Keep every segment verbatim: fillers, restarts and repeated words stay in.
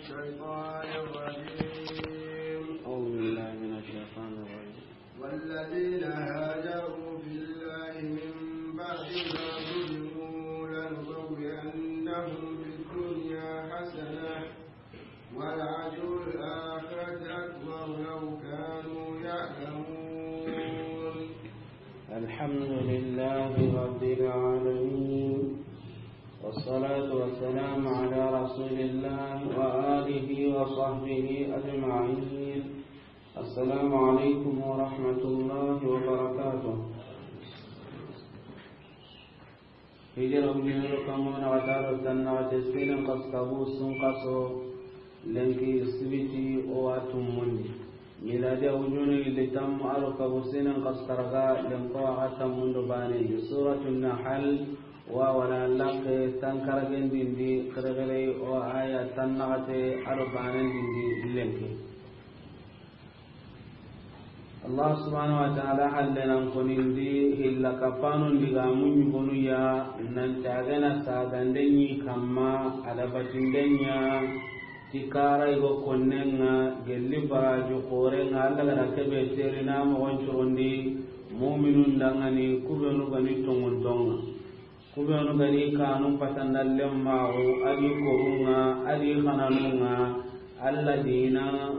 الشيطان الرجيم. أعوذ بالله من الشيطان الرجيم. والذين هاجروا في الله من بعد ما ظلموا لنبوئنهم في الدنيا حسنة ولأجر الآخرة أكبر لو كانوا يعلمون. الحمد لله رب العالمين، والصلاة والسلام على رسول الله وآله وصحبه أجمعين. السلام عليكم ورحمة الله وبركاته. Hijira wujunero kammo na wataro tanna wate sinen kas kabu sun kaso lenki sibiti o watum mundi. Miladi wujunu ili tammu aro kabu sinen kas karga lenko aga tammundo bane. Suratu Nahal wa wala lakke tankara gendindi kere kere o aya tannagate aro banen dindi lenki. Allah subhanahu wa ta'ala halle nan konindi hilla kapanun diga muñi gonu ya nan tagena sagande ñi kamma ada batindenya ti kara igo konnenga gelli baraju korenga Allah gada kebe terina mogon curondi mu'minun dangani kubenu gani tongun tonga. Kubenu gani kanun patandallen maxu, adi korunga, adi xananunga, Allah dina,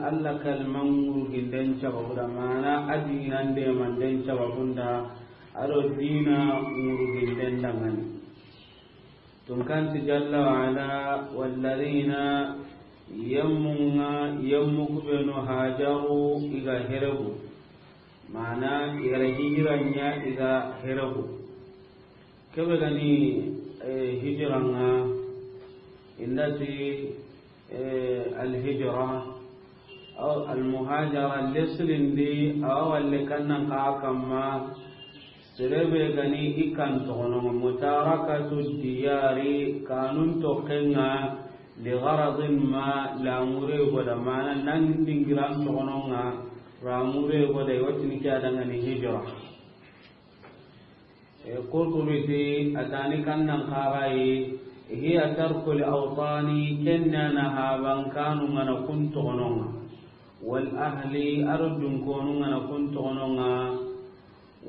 Allah kalman ŋuruginden cababu da, mana a dinan demanden cababunda, ado dina ŋuruginden dangani. Tunkanti jalla wa ala, walladina yemmunga, yemmu kubenu hajaru iga heregu. Mana igara hijiranya iga heregu. Kebe gani, eh, hijiranga indati, eh, alhijra aw almuhajara leslindi awa walle kannan ka kamma. Serebe gani ikan toxono mutarakatu diyari kanun toxenga li gharadin ma lamure goda mana nan dingiran toxononga lamure goda watini ke adangani hijra. E, Qurtubi ti, a tani kannan xaxayi, hiya tarkul awtani, kenna na habankanu ngana kun toxononga, wal ahli, aro dunkonu ngana kun toxononga,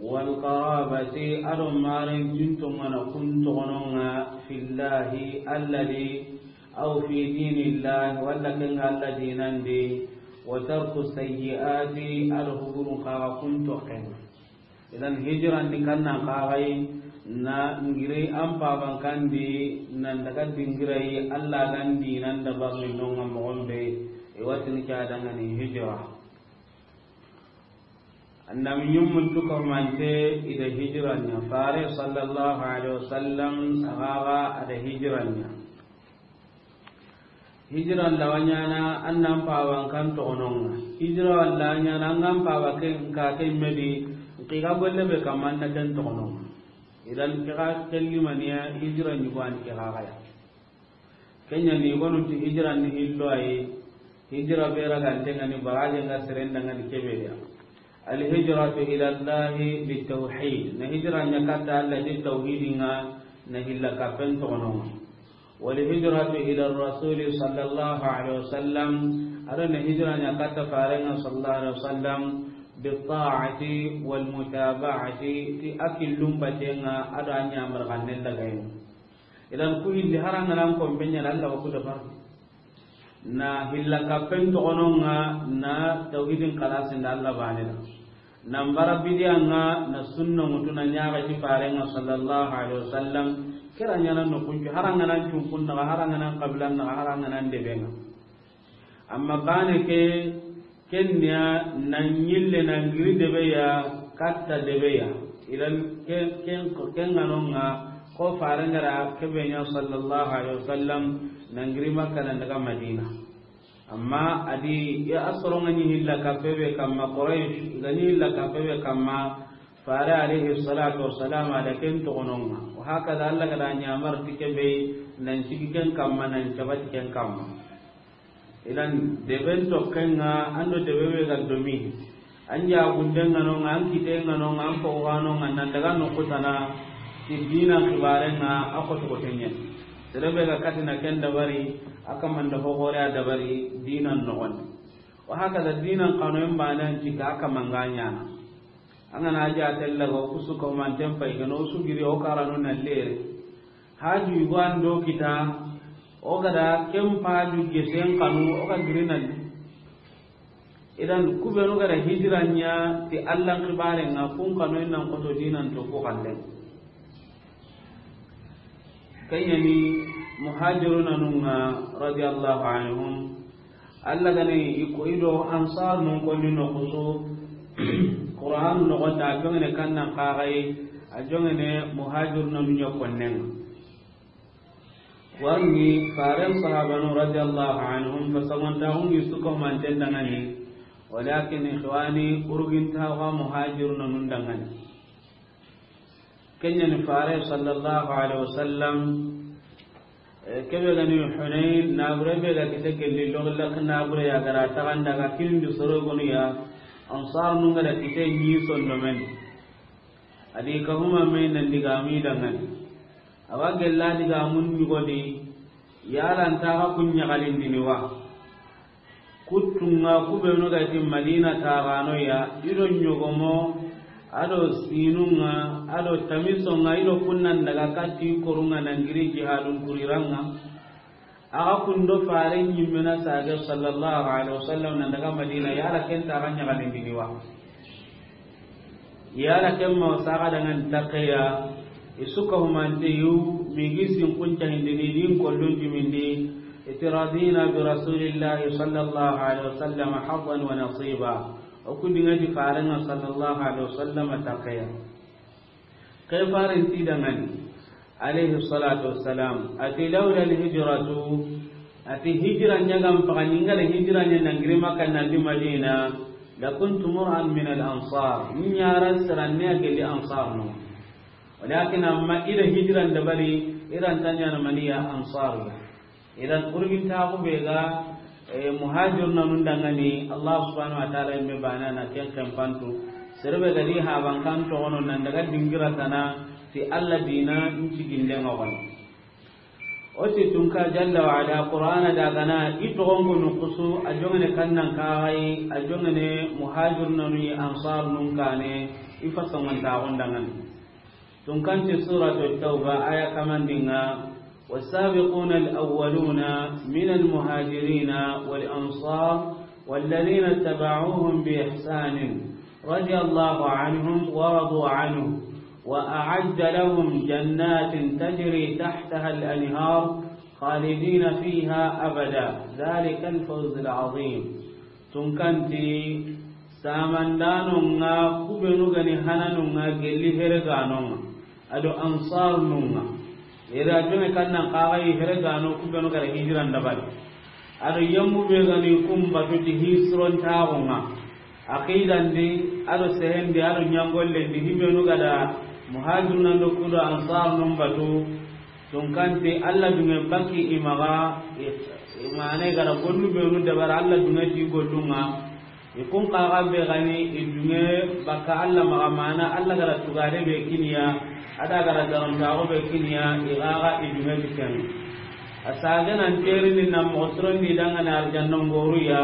wal qarabati, aro maren jinto ngana kun toxononga, fillahi, alladi, aw fi dinillahi, walla kenga alla dinandi, wa tarku sayyiati, aro huburun xaxa kun toxenga. Idan hijirandi kannan xaxayi na ngiri an paban kandi nan daga dingirai Allah gandi nan da barni nonga mogon be. E watini ke adangani hijira. Annabi ñummun tukamante ida hijiranya fare sallallahu alaihi wasallam agaga ada hijiranya. Hijira lawa ñana an nan pawa n kan toxononga. Hijira walla ñana an kan pawa ke n ka ke medi n kiga golle be kamma an na ken toxononga. Idan kiga kellimaniya hijira ñugani ke xaxaya. Kenya ni gonunti hijira ni hillo ayi. Hijira be ragante ngani baraje nga serenda ngani kebeya. Alhijratu ila Allahi litawhid. Na hijira nya katta Allah di tawhidinga na hilla kapen toxononga. Walhijratu ila Rasuli sallallahu alaihi wasallam. Ado na hijira nya katta farenga sallallahu alaihi wasallam bitaati walmutaba'ati ti akillum batenga ado anya marganen lagayen. Idan ku hilli harangana an kombe ñana Allah wa ku dabar. Na hilla kappen toxononga na tawhidin xalasin da Allah bane da. Na mbara bidiya nga na sunna mutu na ñaga ti farenga sallallahu alaihi wasallam. Kira ñana no kunju harangana cunkun daga harangana qabilan daga harangana debenga. Amma bane ke kenya na ñille na ngiri debeya katta debeya. Idan ke ken ken nganonga ko farengara kebenya sallallahu alaihi wasallam na ngiri Makka na daga Madina. Amma adi ya asoro ngani hilla kapebe kamma Quraysh ngani hilla kapebe kamma fare alaihi salatu wassalam ada ken toxononga. Wa hakaza Allah gada ñamar tikebe nan sigi ken kamma nan cabati ken kamma. Idan deben toxenga ando debe be ga domi an jagundenga nonga an kitenga nonga an poganonga nan daga no kutana ti dina xibarenga a koto kotenye. Serebe ga katina ken dabari A kaman da hoxore a dabari diinan noxon di. Wa hakaza diinan xanoyen baane an cika a kaman ga ɲaana. An ga na a jaate laga o ku su kahumanten pay, i ga na o su giri o karanu na lere. Haaju yugo an do kita, o ga da ken haaju gesen xanu, o ga giri na li. Idan, ku beenu ga da hijira ɲa ti Allan xibaaren ŋa, kun xanoyen nan xoto diinan to ku xallen. Ken ɲa ni muhajiruna nun ŋa, radiyallahu anhum. Alla ga ni i ko i do ansar nun konni noxu su, Qur'an noxon di a joŋene kannan xaxayi, a joŋene muhajiruna nun ɲa konnen ŋa. Warni faren sahabanu radiyallahu anhum, fasamantaxun ŋi su kahumanten dangani, walakin ikhwani, urgintaxu a muhajiruna nun dangani. Ken ɲa ni fare sallallahu alaihi wasallam, eh, kebe ga ni Hunayn, nabure be ga kite gelli, logillak nabure ya ga ra taxanda ga kindi soro gonu ya, ansar nun ga da kite ɲi sondomen. A di kahuma me nan digami dangani. A wa gella digamun ɲugodi, yala nta xa kun ɲaxalindini wa? Kuttunga ku beenu ga ti Madina taxano ya, i do ɲogomo, a do sinunga, a do tamisonga, i do kunnan daga katti korunga nan giri jihadun kuriranŋa. Axa kundo fare ɲimmena sage sallallahu alaihi wasallam nan daga Madina, yala ken ta xa ɲaxalindini wa? Yala ken ma saxa dangan takeya, i su kahumante yu, migi sin kun cahindini din kollun jumindi, iti radina bi rasulillahi sallallahu alaihi wasallam haddan wa nasiba. O ku dinga ti farenga sallallahu alaihi wasallam takeya. Ke faren ti dangani, alaihi salatu wassalam, ati, "Laula alhijratu," ati, "Hijira ɲa ga n faga, n ga da hijira ɲa nan giri Makka nan di Madina, lakuntu mur'an min al-ansar." N ɲa ra siranne a gelli ansar no. Walakin amma i da hijira n dabari, i ra nta ɲaana maniya ansar ya. Idan, urgintaxu be ga, eh, muhajiruna nun dangani, Allah subhanahu wa ta'ala yimme bana na ken kempantu. Serebe ga di haban kan toxono nan daga dingira tana ti Allah dina nci ginde ŋa wani. O ti tunka jalla wa ala Qur'ana daga na i toxon gonu kusu, a joŋene kannan kaxayi, a joŋene muhajiruna nun ansar nun kane, i fasamantaxun dangani. Tunkanti Suratu Tawba, aya kamandinga, "والسابقون الأولون من المهاجرين والأنصار والذين اتبعوهم بإحسان رضي الله عنهم ورضوا عنه وأعد لهم جنات تجري تحتها الأنهار خالدين فيها أبدا ذلك الفوز العظيم." Tunkanti, samandanonga, kubenu gani hananonga, gelli hereganonga, ado ansarnunga. Ere a jome kannan kaxayi heregano kubenu gara hijiran dabari. Ado yammu be gani kumbatuti hisrontaxunga. Aqidandi, ado sehendi, ado ɲangollendi, hibenu gada muhajirunando kudo ansarnun batu. Tunkanti, Allah dunge baki imaga, i-, imane gara gollu benu dabara Allah dunge ti gollunga. I kun kaga be gani, i dunge baka Allah maga mana, Allah gara tugade be kiniya, ada gara darontago be kiniya, i gaga i dunge ti ken. A sage nan terini na moxo sirondi dangana arjanna ngoru ya,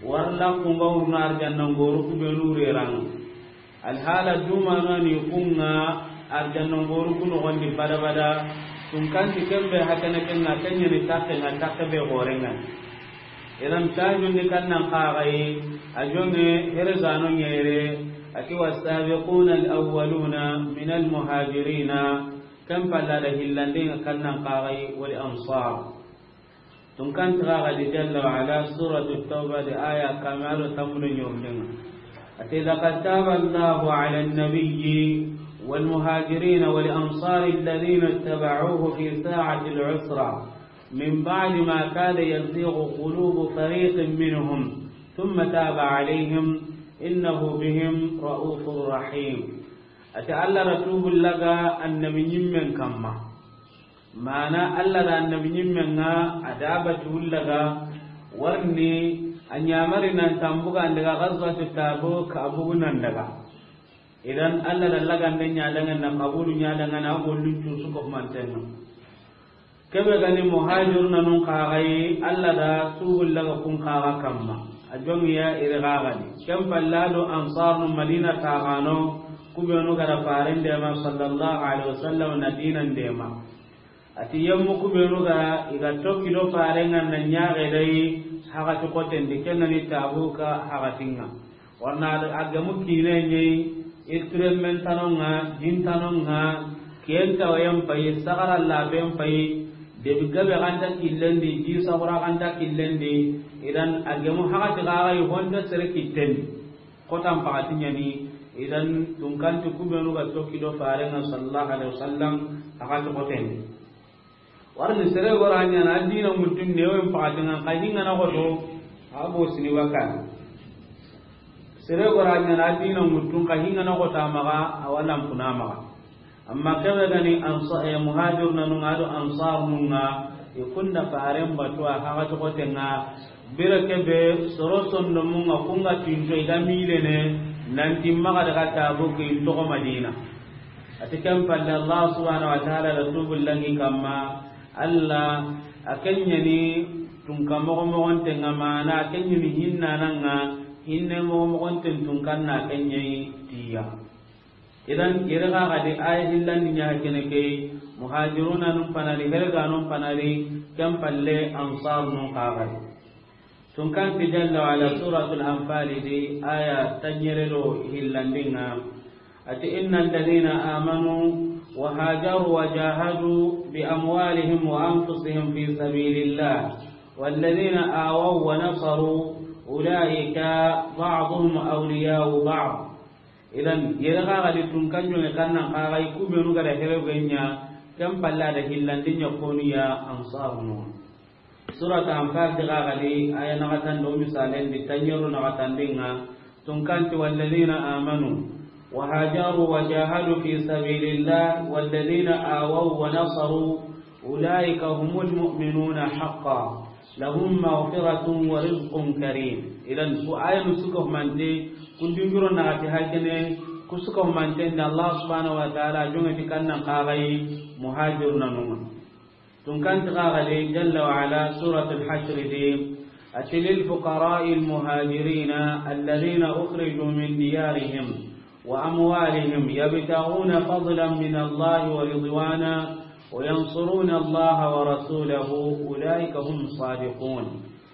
warla kunga wurna arjanna ngoru kubenu rerang. Alhala dumano ni kunga arjanna ngoru kuno gondi bada bada. Tunkanti kembe hakana kenga kenyani takke nga takke be gorenga. Idan tajundi kannan kaxayi, a jonge heregano ɲere, ati والسابقون الأولون من المهاجرين. Ken palla da hillandinga kannan kaxayi, والأنصار. Tunkanti xa gadi jalla wa ala, Suratu Tawba di aya kame ado tammudo ɲorlinga. Ati, لقد تاب الله على النبي والمهاجرين والأنصار الذين اتبعوه في ساعة العسرة من بعد ما كاد يزيغ قلوب فريق منهم ثم تاب عليهم إنه بهم رءوف رحيم. Ati Allah ra tubu laga annabi ɲimmen kamma. Mana Allah da annabi ɲimmen nga a da bati wullaga warni a ɲamari nan tambuga ndaga Ghazwatu Tabuk a bugu nan daga. Idan Allah da lagande ɲadangan na kabulu ɲadangan na gollun cusu ko mantenno. Kebe gani muhajiruna nun kaxayi, Allah da tubullaga kun kaxa kamma. A jongiya iri kaxadi. Ken palla do ansarnu Madina taxano, kubenu gara faren dema sallallahu alaihi wasallam na dinan dema. Ati yemmu kubenu ga iga tokki do farenga na ñaxe dayi, haxati xotendi, kennani Tabuka haxatinga. Warna a gemu kine ñeyi, i turenmen tanonga, jintanonga, kiyen tawayen payi, sagara laben payi, debi gabe ganta killendi, ji sagura ganta killendi. Idan a gemu haxati xaxayi honta sere kittendi. Xotan paxati ñani. Idan tunkanti kubenu ga tokki do farenga sallallahu alaihi wasallam, haxati xotendi. Warni sere gora ñana a dina muttun ne, wen paxatinga xa hingana xoto, a bo sini waka. Sere gora ñana a dina muttun xa hingana xota maxa, a wala mpuna maxa. Amma kebe gani ansa-, eh, muhajiruna nunga do ansar nunga, i kunda faren batuwa haxati xotenga, bire kebe soro sondomunga kunga tinto i ga milene, nanti maxa daga Tabuki toxo Madina. Ati ken palle Allah subhanahu wa ta'ala da tubullangi kamma, Allah a kenyani tunka moxo moxontenga mana, a kenyani hinnananga, hinne moxo moxonten tunkanna kenyayi tiya. Idan iri kaxadi aya hillandi ña kene ke, muhajiruna num panari, herga num panari, ken palle ansar num kaxadi. Tunkanti Jalla wa Ala, Suratul Anfal di, aya tanñere do hillandinga. Ati, إن الذين آمنوا وهاجروا وجاهدوا بأموالهم وأنفسهم في سبيل الله والذين آووا ونصروا أولئك بعضهم أولياء بعض. Idan yere kaxadi tunkan jonge kannan kaxayi kubenu gada here genya, ken palla da hillandinya konu ya ansarunu. Surat Anfal di ga gadi, aya naxatan do misalen di tanñeru naxatandinga, tunkanti, والذين آمنوا وهاجروا وجاهدوا في سبيل الله والذين آووا ونصروا أولئك هم المؤمنون حقا لهم مغفرة ورزق كريم. Idan ku ayanu suka humante, ku dungiro naxati hakene, ku suka humante nda Allah subhanahu wa ta'ala jongati kannan kaxayi muhajiruna nunga. Tunkanti kaxadi Jalla wa Ala, Suratul Hashr di, ati, للفقراء المهاجرين الذين أخرجوا من ديارهم وأموالهم يبتغون فضلا من الله ورضوانا وينصرون الله ورسوله أولئك هم الصادقون.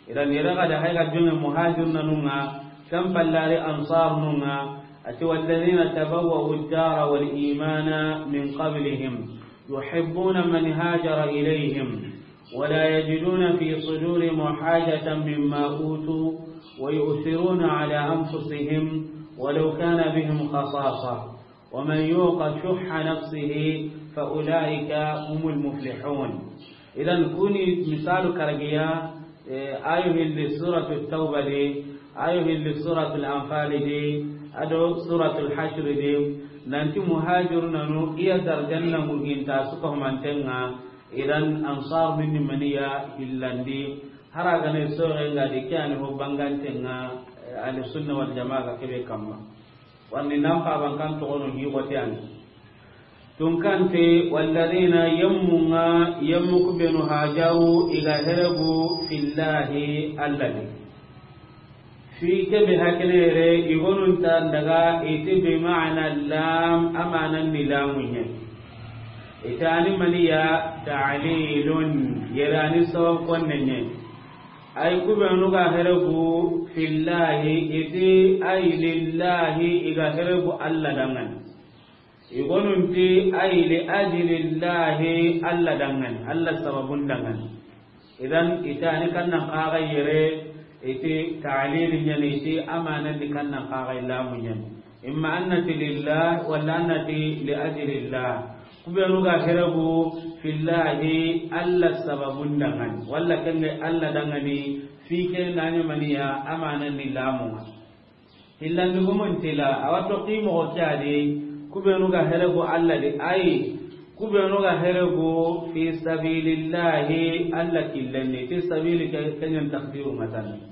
Idan yere gada hayga jonge muhajiruna nunga, ken pallari ansar nunga, ati, والذين تبوأوا الدار والإيمان من قبلهم يحبون من هاجر إليهم ولا يجدون في صدورهم حاجة مما أوتوا ويؤثرون على أنفسهم ولو كان بهم خصاصة ومن يوق شح نفسه فأولئك هم المفلحون. Idan kuni misalu karagiya, eh, ayu hilli Suratul Tawba di, ayu hilli Suratul Anfal di, ado Suratul Hashr di, nanti muhajiruna nu iya darjanna muginta suka humantenga. Idan ansar minni maniya hillandi, haragane sorenga di ke ani ho bangantenga, eh, Ahli Sunna wal Jamaa ga kebe kamma. Wandi nan paban kan toxono hi xote ani. Tunkante, والذين, yemmunga, yemmu kubenu hajaru, iga heregu, fillahi, Allah di. Fi kebe hakenere, igonunta daga, iti bi ma'na lam, amanan ni lamunye. Itani maniya, ta'lilun, yerani sabab konnenye. Ay kubenu ga heregu, fillahi, iti ay lillahi, iga heregu Allah dangan. Igonunti ay li ajlillahi, Allah dangan, Allah sababun dangan. Idan itani kannan kaga yere, iti ta'lil nyani, iti amanan di kannan kaga lamu nyani. Imma annati lillah, wala annati li ajlillah. Kubenu ga heregu fillahi, Allah sababun dangan. Wala kenge Allah dangani, fi ke nani maniya, amanan ni lamu. Hillandi gumun tila, awa toxi moxo ke adi, kubenu ga heregu Allah di, ayi, kubenu ga heregu fi sabilillahi, Allah killenni, fi sabili ke, kenyan takdiru matan.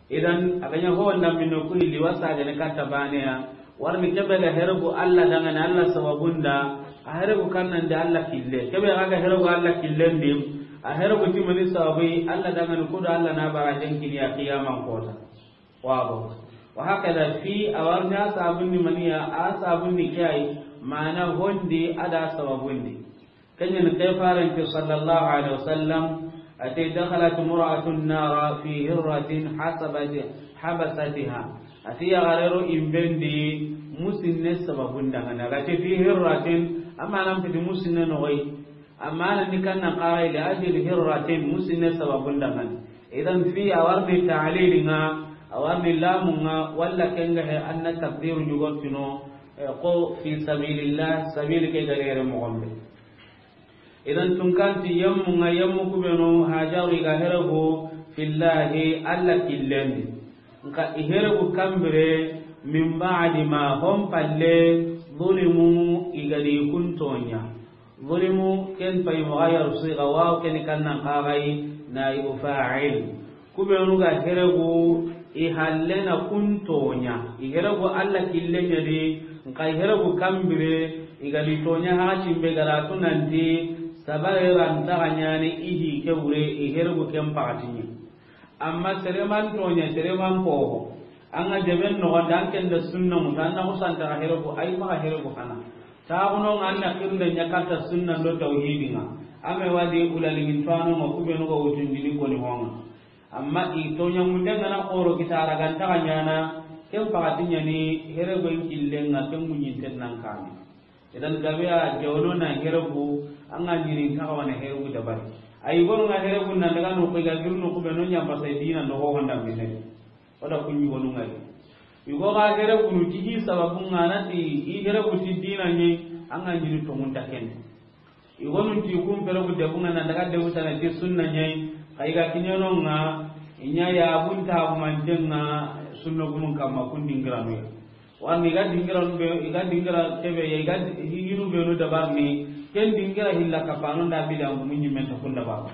Idan, a ganya ho wanda minno ku hilli wasa gane katta baneya, warni kebe ga heregu Allah dangane Allah sababunda, a heregu kannan di Allah kille. Kebe ga ga heregu Allah killen di, A here ku ti mani sababu yi, Alla dangani kudo Alla na bara jenkini ya qiyaman kota. Wabo. Wa hakada fi a warni a sabunni maniya, a sabunni kiyai, mana hondi a da sababundi. Kanyan kefaren ke sallallahu alaihi wasallam, ate dakhalat imra'atun nara fi hirratin hasabati-, habasatiha. Ate ya garero imbendi musinne sababun dangana. Ate fi hirratin, amma nan fiti musinne no gai. Amma nan ni kanna qarai li ajli hirratin musinne sababun dangana. Idan fi a warni ta'lil nga, a warni lamu nga, walla kenga he anna taqdiru nyugotino, eh, ko fi sabilillah, sabil ke garere mo gombe. Idan tunkanti yammu nga yammu kubenu Hajaru i ga heregu fillahi Alla killendi. Nka i heregu kambire min ba'di ma hon palle zulimu i ga di kuntonya. Zulimu ken pay mughayyaru siga waw ken kannan qagai na i fa'il. Kubenu ga heregu i hallena kuntonya. I heregu Alla killenya di, nka i heregu kambire, i ga di tonya ha cimbe garatu nanti, sabare ranta ganyani ihi ke wure, i heregu ken pagatinye. Amma sereman tonya, sereman poho. Anga deben no dan ken da sunna mutanna musanta heregu, ay ma heregu hana. Taxuno nga anna kirnde ɲa katta sunna do tawhidi nga. Ame wadi ulalingin tuwano nga kubenu ga wutundini koni honga. Amma i toɲamunde nga na xoro kitara ganta ga ɲana, ken pagati ɲani here goyin killen nga ken muɲinten nan kame. Idan gabe a jawno na here gu, an ga ɲini kaxa wana here gu dabari. Ayi gonu nga here gu nan daga no ko ga girno kubenu ɲa basa dina no ho honda minne. Oda kuɲi gonu nga. Yugo ga here gunu ti hi sababu nga na ti i here gu ti dina ɲi, an ga ɲini tongun ta ken. I gonu ti kun pere ku debu nga na daga debu tana ti sunna ɲai, xa i ga kiɲono nga, i ɲa ya bunta ku manten nga sunna gunun kamma kun dingiranu ya. Warni i ga dingiranu be, i ga dingira kebe ya, i ga di-, hi-, hinu benu dabarni, ken dingira hilla kapano nda bidan gumu ɲimen ta kun dabar.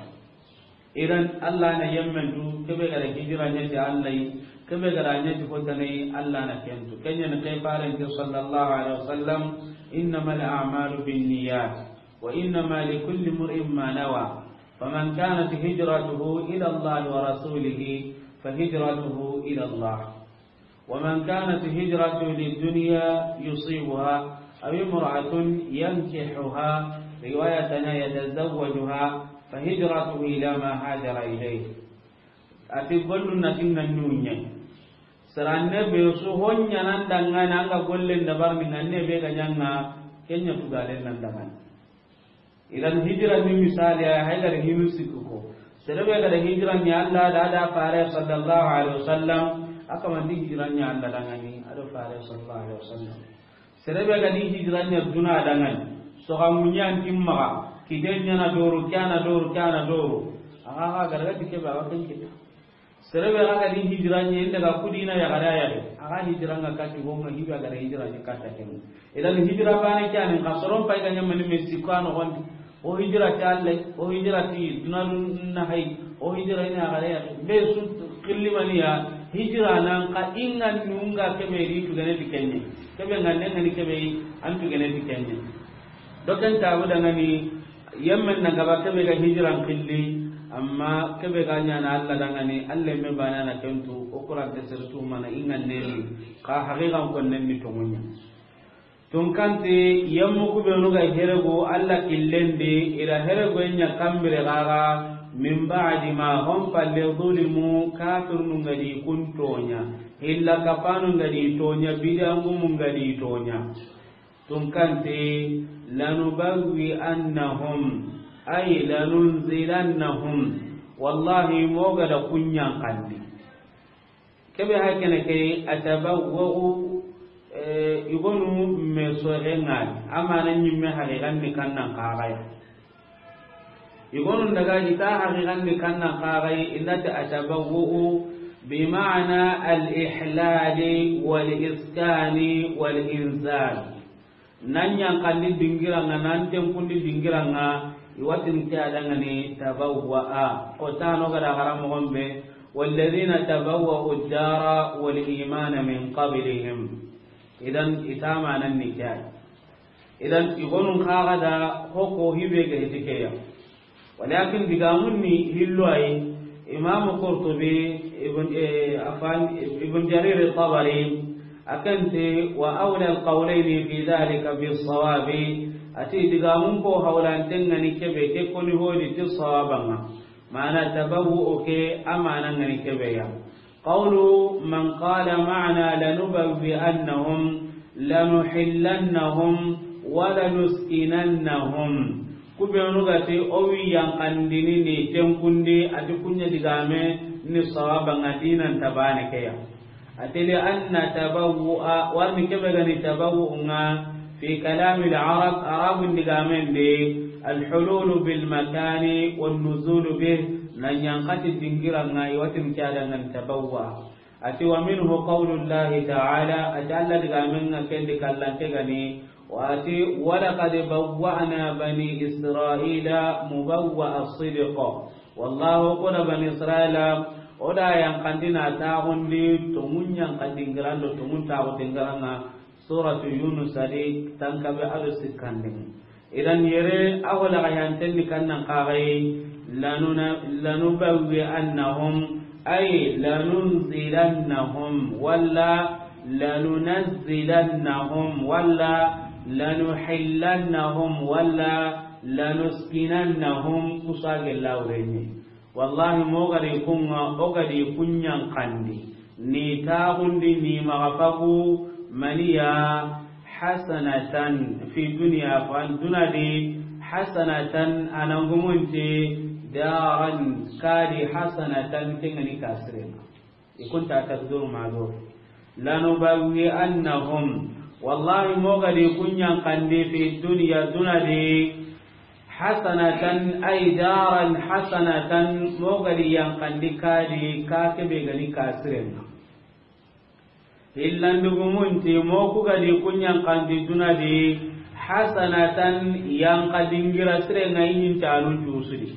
Idan Allah na yemmen tu, kebe ga da hijira ɲa ti Allah yi, kebe ga da ɲa ti hotana yi, Allah na ken tu. Ken ɲa ni ke faren ti sallallahu alaihi wasallam, "Innamal a'malu binniyat, wa innama likulli imri'in ma nawa. Faman kanat hijratuhu ila Allah wa rasulihi, fa hijratuhu ila Allah. ومن كانت هجرته لدنيا يصيبها أو امرأة ينكحها، رواية يتزوجها، فهجرته إلى ما هاجر إليه." Ati gollu na tinna nunya. Saranne be su honya nan dangana nga gollen dabar ni nganne be ga ɲanga kenya tugalen nan dangana. Idan hijira ni misali ya haydar hinu sikku ko. Serebe ga da hijira ni Allah da da fare sallallahu alaihi wasallam, aka man di hijira ni Allah dangani, ado fare sallallahu alaihi wasallam. Serebe ga di hijira ni duna dangani, so ga munyan timma, kiden ɲa na doro, kana doro, kana doro. Aga ga ga daga tike ba wakan kita. Serebe ga ga di hijira ɲa, inda ga kudina ya ga da ya de. Aga hijira nga kati honga hiba ga da hijira ɲa kata ken. Idan hijira bane kyani ka soron pay ga ɲamani me sikko ano gondi. O hijira ti Allah, o hijira ti dunadun na hay, o hijira ina ga da ya de. Be su killimaniya hijira nan ka inga nunga kebe di tugene ti kenye. Kebe nga nenga ni kebe an tugene ti kenye. Doken tabu dangani, yemmen na gaba kebe ga hijiran killi, amma kebe ga ɲana Allah dangani, Allah me bana na kentu, o Qur'an te sirtu mana inga neni, ka haqiqan kon nenni tongunya. Tunkante, yemmu kubenu ga herego Allah killendi, ila herego nya kambire gaga, min ba'di ma hum palle zulimu, kafirnu ngadi kun tonya, hilla kapanu ngadi tonya, bidangumu ngadi tonya. Tunkante, lanubawwi'annahum, ay lanunzilannahum. Wallahi, moga da kunyan kandi. Kebe hakene ke atabawwa'u, eh, igonu me sorengal, amana nyimme haqiqan ni kannan kagaya. Igonun daga ita haqiqan ni kannan kagai, indati atabawwu'u bi ma'ana al-ihlali wal iskani wal inzal. Nan yan kalli dingiranga, nan tenkundi dingiranga, iwatin ke adangani tabawwa'a. Ko tano gada haramu gombe, walladhina tabawwa'u ad-dara wal imana min qablihim. Idan itama nan ni kai. Idan igonun kaga da hoko hibe ga hitikeya. Walakin digaamun ni hillo ay, Imam Qurtubi, Ibn, eh, afan, Ibn Jarir Tabari, a kan ti, wa awla al-qawlayni fi dhalika bis-sawabi, a ti digaamun ko hawlanten ŋa ni kebe, ke koni hodi ti sawaba ŋa. Mana tabawwu ke, a mana ŋa ni kebe ya. Qawlu man qala ma'na lanubawwi'annahum, lanuhillannahum, wa lanuskinannahum. Ku benu ga ti, o wi yanqandini ni tenkundi, a ti kunya digame ni sawaba ŋa dinan tabane ke ya. A ti li anna tabawwu'a, warni kebe ga ni tabawwu ŋa, fi kalamil arab, Arabun digamen di, al-hululu bil makani wan nuzulu bih, na yanqati dingira ŋa, i wa ti n ke a da ŋa ni tabawwa. A ti wa minhu qawlullahi ta'ala, a ti Alla digamen ŋa ken di kallante ga ni, wa a ti, wa laqad bawwa'na bani Israila mubawwa'a sidq. Wallahu, o ku da bani Israila, o da yanqandi na taxundi tonŋun yanqa dingiran do tonŋun taxu dingiran ŋa, Suratu Yunus a di tankabe a do sikkandin. Idan yere a ho laga yanten ni kannan kaxayi, lanuna-, lanubawwi'annahum, ay lanunzilannahum, walla lanunazzilannahum, walla lanuhillannahum, walla lanuskinannahum, kusa gella wureni. Wallahi, mo gadi kunŋa, o gadi kunyan kandi. Ni taxundi, ni maxa fagu, maniya hasanatan fi dunya, fan dunadi hasanatan, anangumunti daran kadi hasanatan, kengani kasirenga. I kunta takduru mago. Lanubawwi'annahum. Wallahi, mo gadi kunyan kandi fi dunya, dunadi, hasanatan, ay daran hasanatan, mo gadi yankandi kadi, ka kebe gani kasirenga. Hillandugumunti, mo ku gadi kunyan kandi dunadi, hasanatan, yanka dingira sirenga, inin tanun jusudi.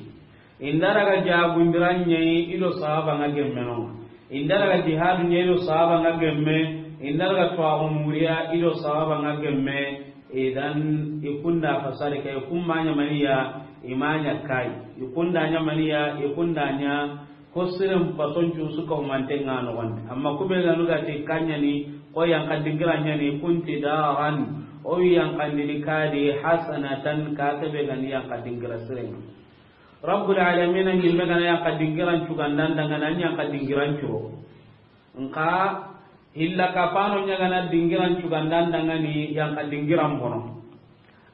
Inda daga jagundiran ɲayi i do sahaba nga gemme no. Inda daga jihadu ɲayi i do sahaba nga gemme. Inda daga tuwaxu muriya i do sahaba nga gemme. Idan i kunda fasari kay, kun ma ɲa maniya, i ma ɲa kay. I kunda ɲa maniya, i kunda ɲa ko siren pason cu su ka humante nga noxondi. Amma kube ganu gati kanyani, ko yanka dingira ɲani, kunti daran, o wi yankandini kadi hasanatan, ka kebe gani yanka dingira siren. Rabbul alamin, an ɲimme gana yanka dingiran cugandan dangana, an yanka dingiran curo. Nka hilla kapano ɲagana dingiran cugandan dangani yanka dingiran bono.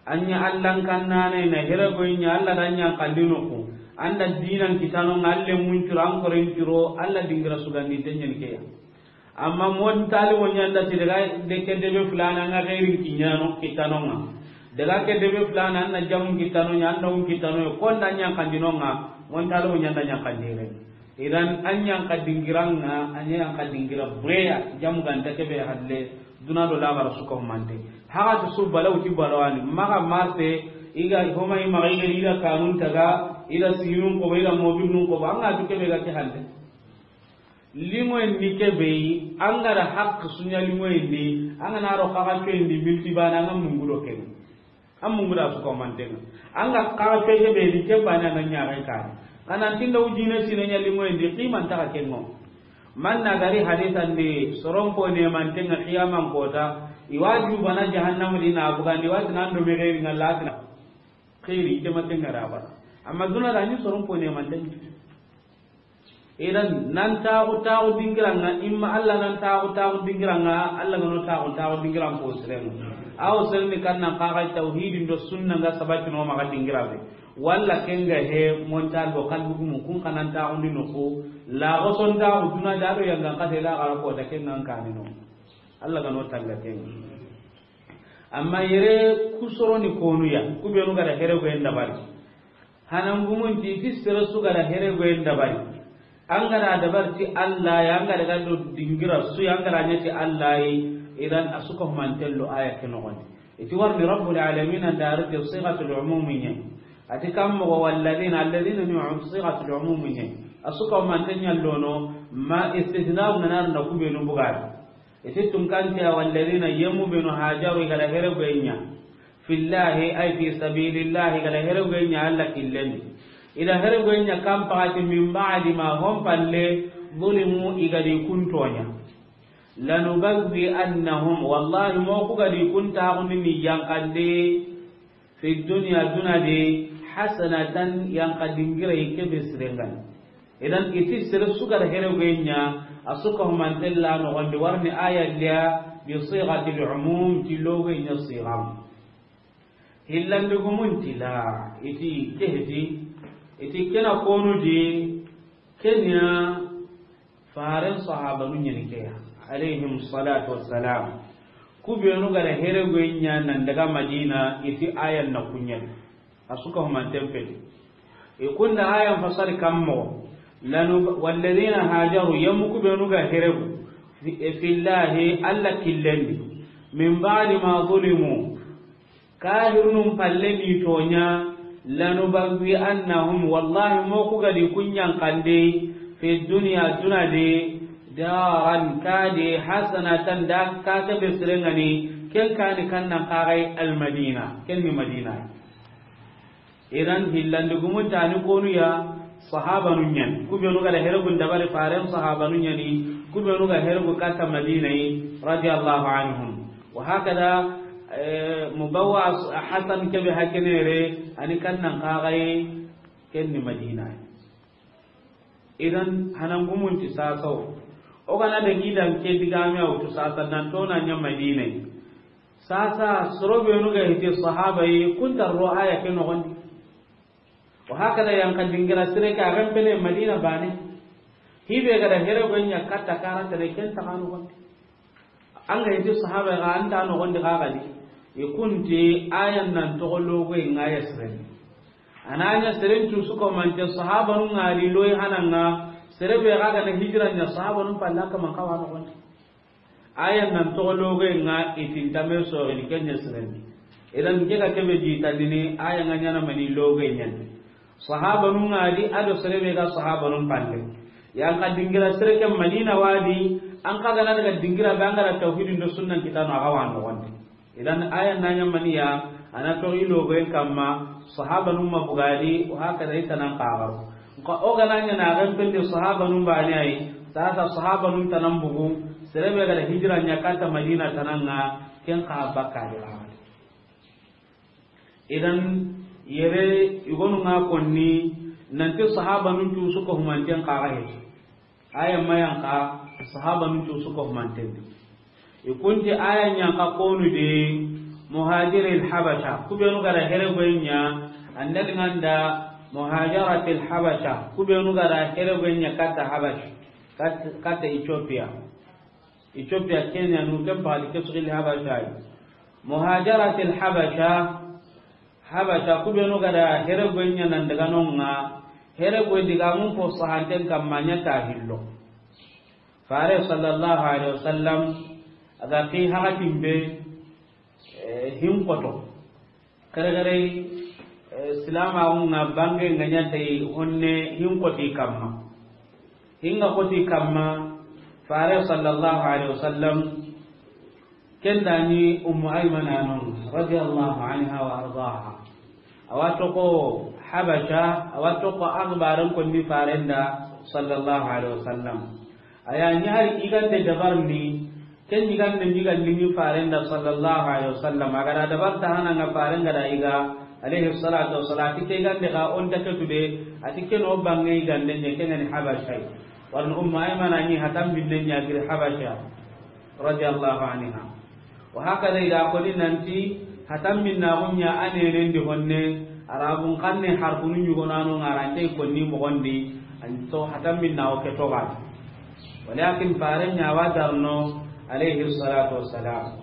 An ɲa Allan kannane na here goy ɲa Alla da ɲankandi noku. An da dinan kitano nga Alle mun curo, an koren curo, Alla dingira sugandinte ɲani keya. Amma mon talibo ɲanda ti daga de ke debe fulana nga xeerin kiɲano kitanonga. Daga ke debe fulana an na jamun kitano ɲa, an na un kitano, ko nda ɲankandinonga, mon talibo ɲanda ɲankandire. Idan an ɲanka dingiranga, an ɲanka dingira bureya, jamu ganta kebe halle, duna do laxara su ka humante. Haxa ti su balaw ti balawani, maxa marte, iga homa i maxa iga ida kanun taga, ida sinun ko, ida mobilnun ko, an ga tu kebe ga ke halle. Limoyen ni kebe yi, an ga da haq sunya limoyen di, an ga na ro xaxa coyen di milti bana, an ga mungu do kebe. An mungu da su ko mantenga. An ga xaxa coye be di kebe na na ɲaxen kare. Kana tinda ujine sine ɲa limoyen di, qiman taxa kengo. Man na gari hadisan di, soron po ne mantenga qiyaman kota, i waju bana jahannam di na bugandi, wati nan do me geri ngalatina. Xiri, ite matenga da bana. Amma duna da ni soron po ne mantenga. Idan, nan taxu, taxu dingiranga, imma Alla nan taxu, taxu dingiranga, Alla gano taxu, taxu dingiran ko sirenga. Aw serni kannan kaxa tawhidin do sunna nga sabatino maxa dingirabe. Walla kenga he, montal do kalbugumu, kun kanan taxu ndi noku, la goson taxu, duna da do yanga kate la gara ko da kenga kanino. Alla gano tanga kenga. Amma yere kusoroni konuya, kubenu gara here go en dabari. Hanangumun ti, ti sere su gara here goyen dabari. An gara dabari ti Alla ya, an gara ga do dingira su ya, an gara ɲa ti Alla yi, idan a su ka humanten lo aya ke noxondi. Iti warni Rabbul Alamin an dari ti sigatul umumi ɲa. Ati kam moxo walladina, alladina ni um sigatul umumi ɲa. A su ka humanten ɲa lono, ma istithna na nar na kubenu bugari. Iti tunkanti a walladina yemu benu hajaru i gara here goyen ɲa. Fillahi, ay fi sabilillahi, i gara here goyen ɲa Alla killen di. I da heregoyen ɲa kan paxati, min ba'di ma, hon palle, zulimu, i ga di kun toɲa. Lanubawwi'annahum, wallahi, mo ku ga di kun taxundi ni yanqande, fi dunya, duna di, hasanatan, yanqa dingira i ke be siren ŋa ni. Idan, i ti sere su ga da heregoyen ɲa, a su ka humanten la noxon di, wari ni aya liya, bi sigatil umum, ti logoyen ɲa siga. Hillandi gumun ti la, i ti ke heti, i ti ke na konu di, ke ɲa Faren sahabanu ɲa ni ke ya, alayhim salatu wassalam. Ku benu ga da heregoyen ɲa nan daga Madina, i ti ayan na ku ɲa ni. A su ka humanten peti. I kunda ayan fasari kammo. Lanu, walladhina hajaru, yammu ku benu ga heregu, fi, fillahi, Alla killen di. Min ba'di ma zulimu, kahirnun palle ni toɲa, lanubawwi'annahum, wallahi, mo ku ga di kun yanqande, fi dunya, duna di, daran, ka di, hasanatan, da ka ke be siren ŋa ni, ken ka ni kan nan xaxay Almadina, ken ni Madina. Idan, hillandi gumun ta ni konu ya, sahabanu ɲa ni. Ku benu ga da heregun dabari, Faren sahabanu ɲa ni. Ku benu ga heregu katta Madina yi, radiyallahu anhum. Wa hakada, eh, mubawwa as-, hasan ke be hakenere, a ni kan nan xaxay, ken ni Madina. Idan, hanan gumun ti sasa wo. O ga na da gidan ke digame a wutu sasa, nan to na ɲa Madina yi. Sasa, soro benu ga hiti sahaba yi, kun ta ro aya ke noxon di. Wa hakada, yanqa dingira sire ke, a ga n pele Madina bane. Hi be ga da heregoyen ɲa katta karanta ne, ken ta xa noxon di. An ga hiti sahaba ga, an ta noxon di xa ga di. I kun ti ayan nan toxo logoyen ŋa ya siren. A na ɲa seren cu su ko mante sahabanun ŋa di loyi hanan ŋa, sere be ga ga na hijira ɲa sahabanun palle ka man xawa noxon di. Ayan nan toxo logoyen ŋa i ti n ta me soxini ken ɲa siren di. Idan ke ga ke be di tandini, ayan ŋa ɲa na mani logoyen ɲa ni. Sahabanun ŋa di, a do sere be ga sahabanun palle. Yanqa dingira sere ke Madina wa di, an xa ga na daga dingira be an ga da tawhidin do sunnan kitano a ga wa noxon di. Idan ayan na ɲa mani ya, a na toxo i logoyen kamma, sahabanun ma bugadi, wa hakada i ta nan xaxaro. Nka o ga na ɲa na ga n pele sahabanun bane yi, sasa sahabanun ta nan bugu, sere be ga da hijira ɲa katta Madina ta nan ŋa, ken xa bakka di xa. Idan, yere, i gonu ŋa konni, nanti sahabanun cu su ko humanten xa ga he. Aya ma yanqa, sahabanun cu su ko humanten di. I kun ti aya ɲa xa konu de, muhajiril Habasha. Ku benu ga da heregoyen ɲa, an da di ŋa nda muhajaratil Habasha. Ku benu ga da heregoyen ɲa katta Habasha, kat-, katta Ethiopia. Ethiopia, Kenya, nu ken paxati ke su xilli Habasha yi. Muhajaratil Habasha, Habasha, ku benu ga da heregoyen ɲa nan daga non ŋa, heregoyen digamun fo sahanten kamma ɲa ta hillo. Fare sallallahu alaihi wasallam, a ga xi hakatin be, eh, hin xoto. Kare kare, eh, silamaxun ŋa bange ŋa ɲa ta yi honne hin xoti kamma. Hin ga xoti kamma, Fare sallallahu alaihi wasallam, ken da ni Ummu Aymana non, radiyallahu anha wa ardaha. A wa toxo Habasha, a wa toxo axbaran konni Faren da, sallallahu alaihi wasallam. A ya ɲi hari i ga nde dabarni, ken i ga nde ɲi ga liŋi Faren da, sallallahu alaihi wasallam. A ga da dabar ta hana ŋa Faren ga da i ga, alaihi salatu wassalam. A ti ke i ga nde ga o nta ke tu de, a ti ke no bange i ga nde ɲa, ken ŋa ni Habasha yi. Wala Ummu Aymana ɲi hatan binne ɲa giri Habasha, radiyallahu anha. Wa hakada, i da koni nanti, hatan binnaxun ɲa a nenen di honne, Arabun xanne harfunu ɲugonano ŋa ra nte konni moxon di, an to hatan binnaxu ke toxati. Walakin Faren ɲa wa darno, alayhi salatu wassalam.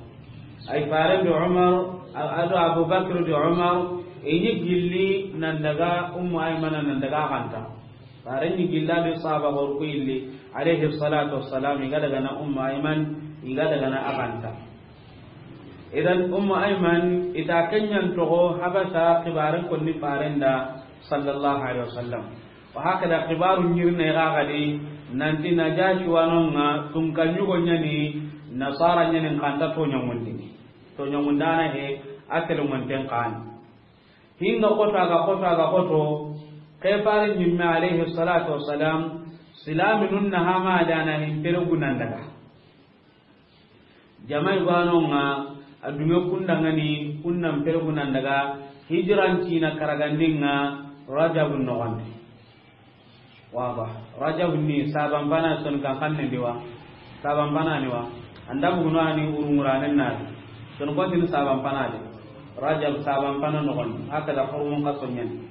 Ay Faren di Umar, a do Abu Bakr di Umar, i ɲi gilli nan daga Ummu Aymana nan daga a xanta. Faren ɲi gilla be sahaba xoru ku yilli, alayhi salatu wassalam, i ga daga na Ummu Ayman, i ga daga na a xanta. Idan Ummu Ayman, i ta ken ɲan toxo Habasha xibaren konni Faren da, sallallahu alaihi wasallam. Wa hakada xibaru ɲirne ga gadi, nanti Najashi wa non ŋa, tunka ɲugo ɲa ni, nasara ɲa ni, n xanta toɲangundini. Toɲangundana he, a telengonten xa ni. Hinga xoto, a ga xoto, a ga xoto, Ke fare ñimme alayhi salatu wassalam, silaminun na hama dana hin pere gunan daga. Jama i gano nga, a dunge kundangani, kunnan pere gunan daga, hijran cina karagandin nga, Rajab nogondi. Waba, Rajab ni saban pana son kan xannen di wa, saban pana ni wa, anda buguno ani urunguranen na, son ko tin saban pana de, Rajab saban pana nogondi, haka da hormon ka sonyen.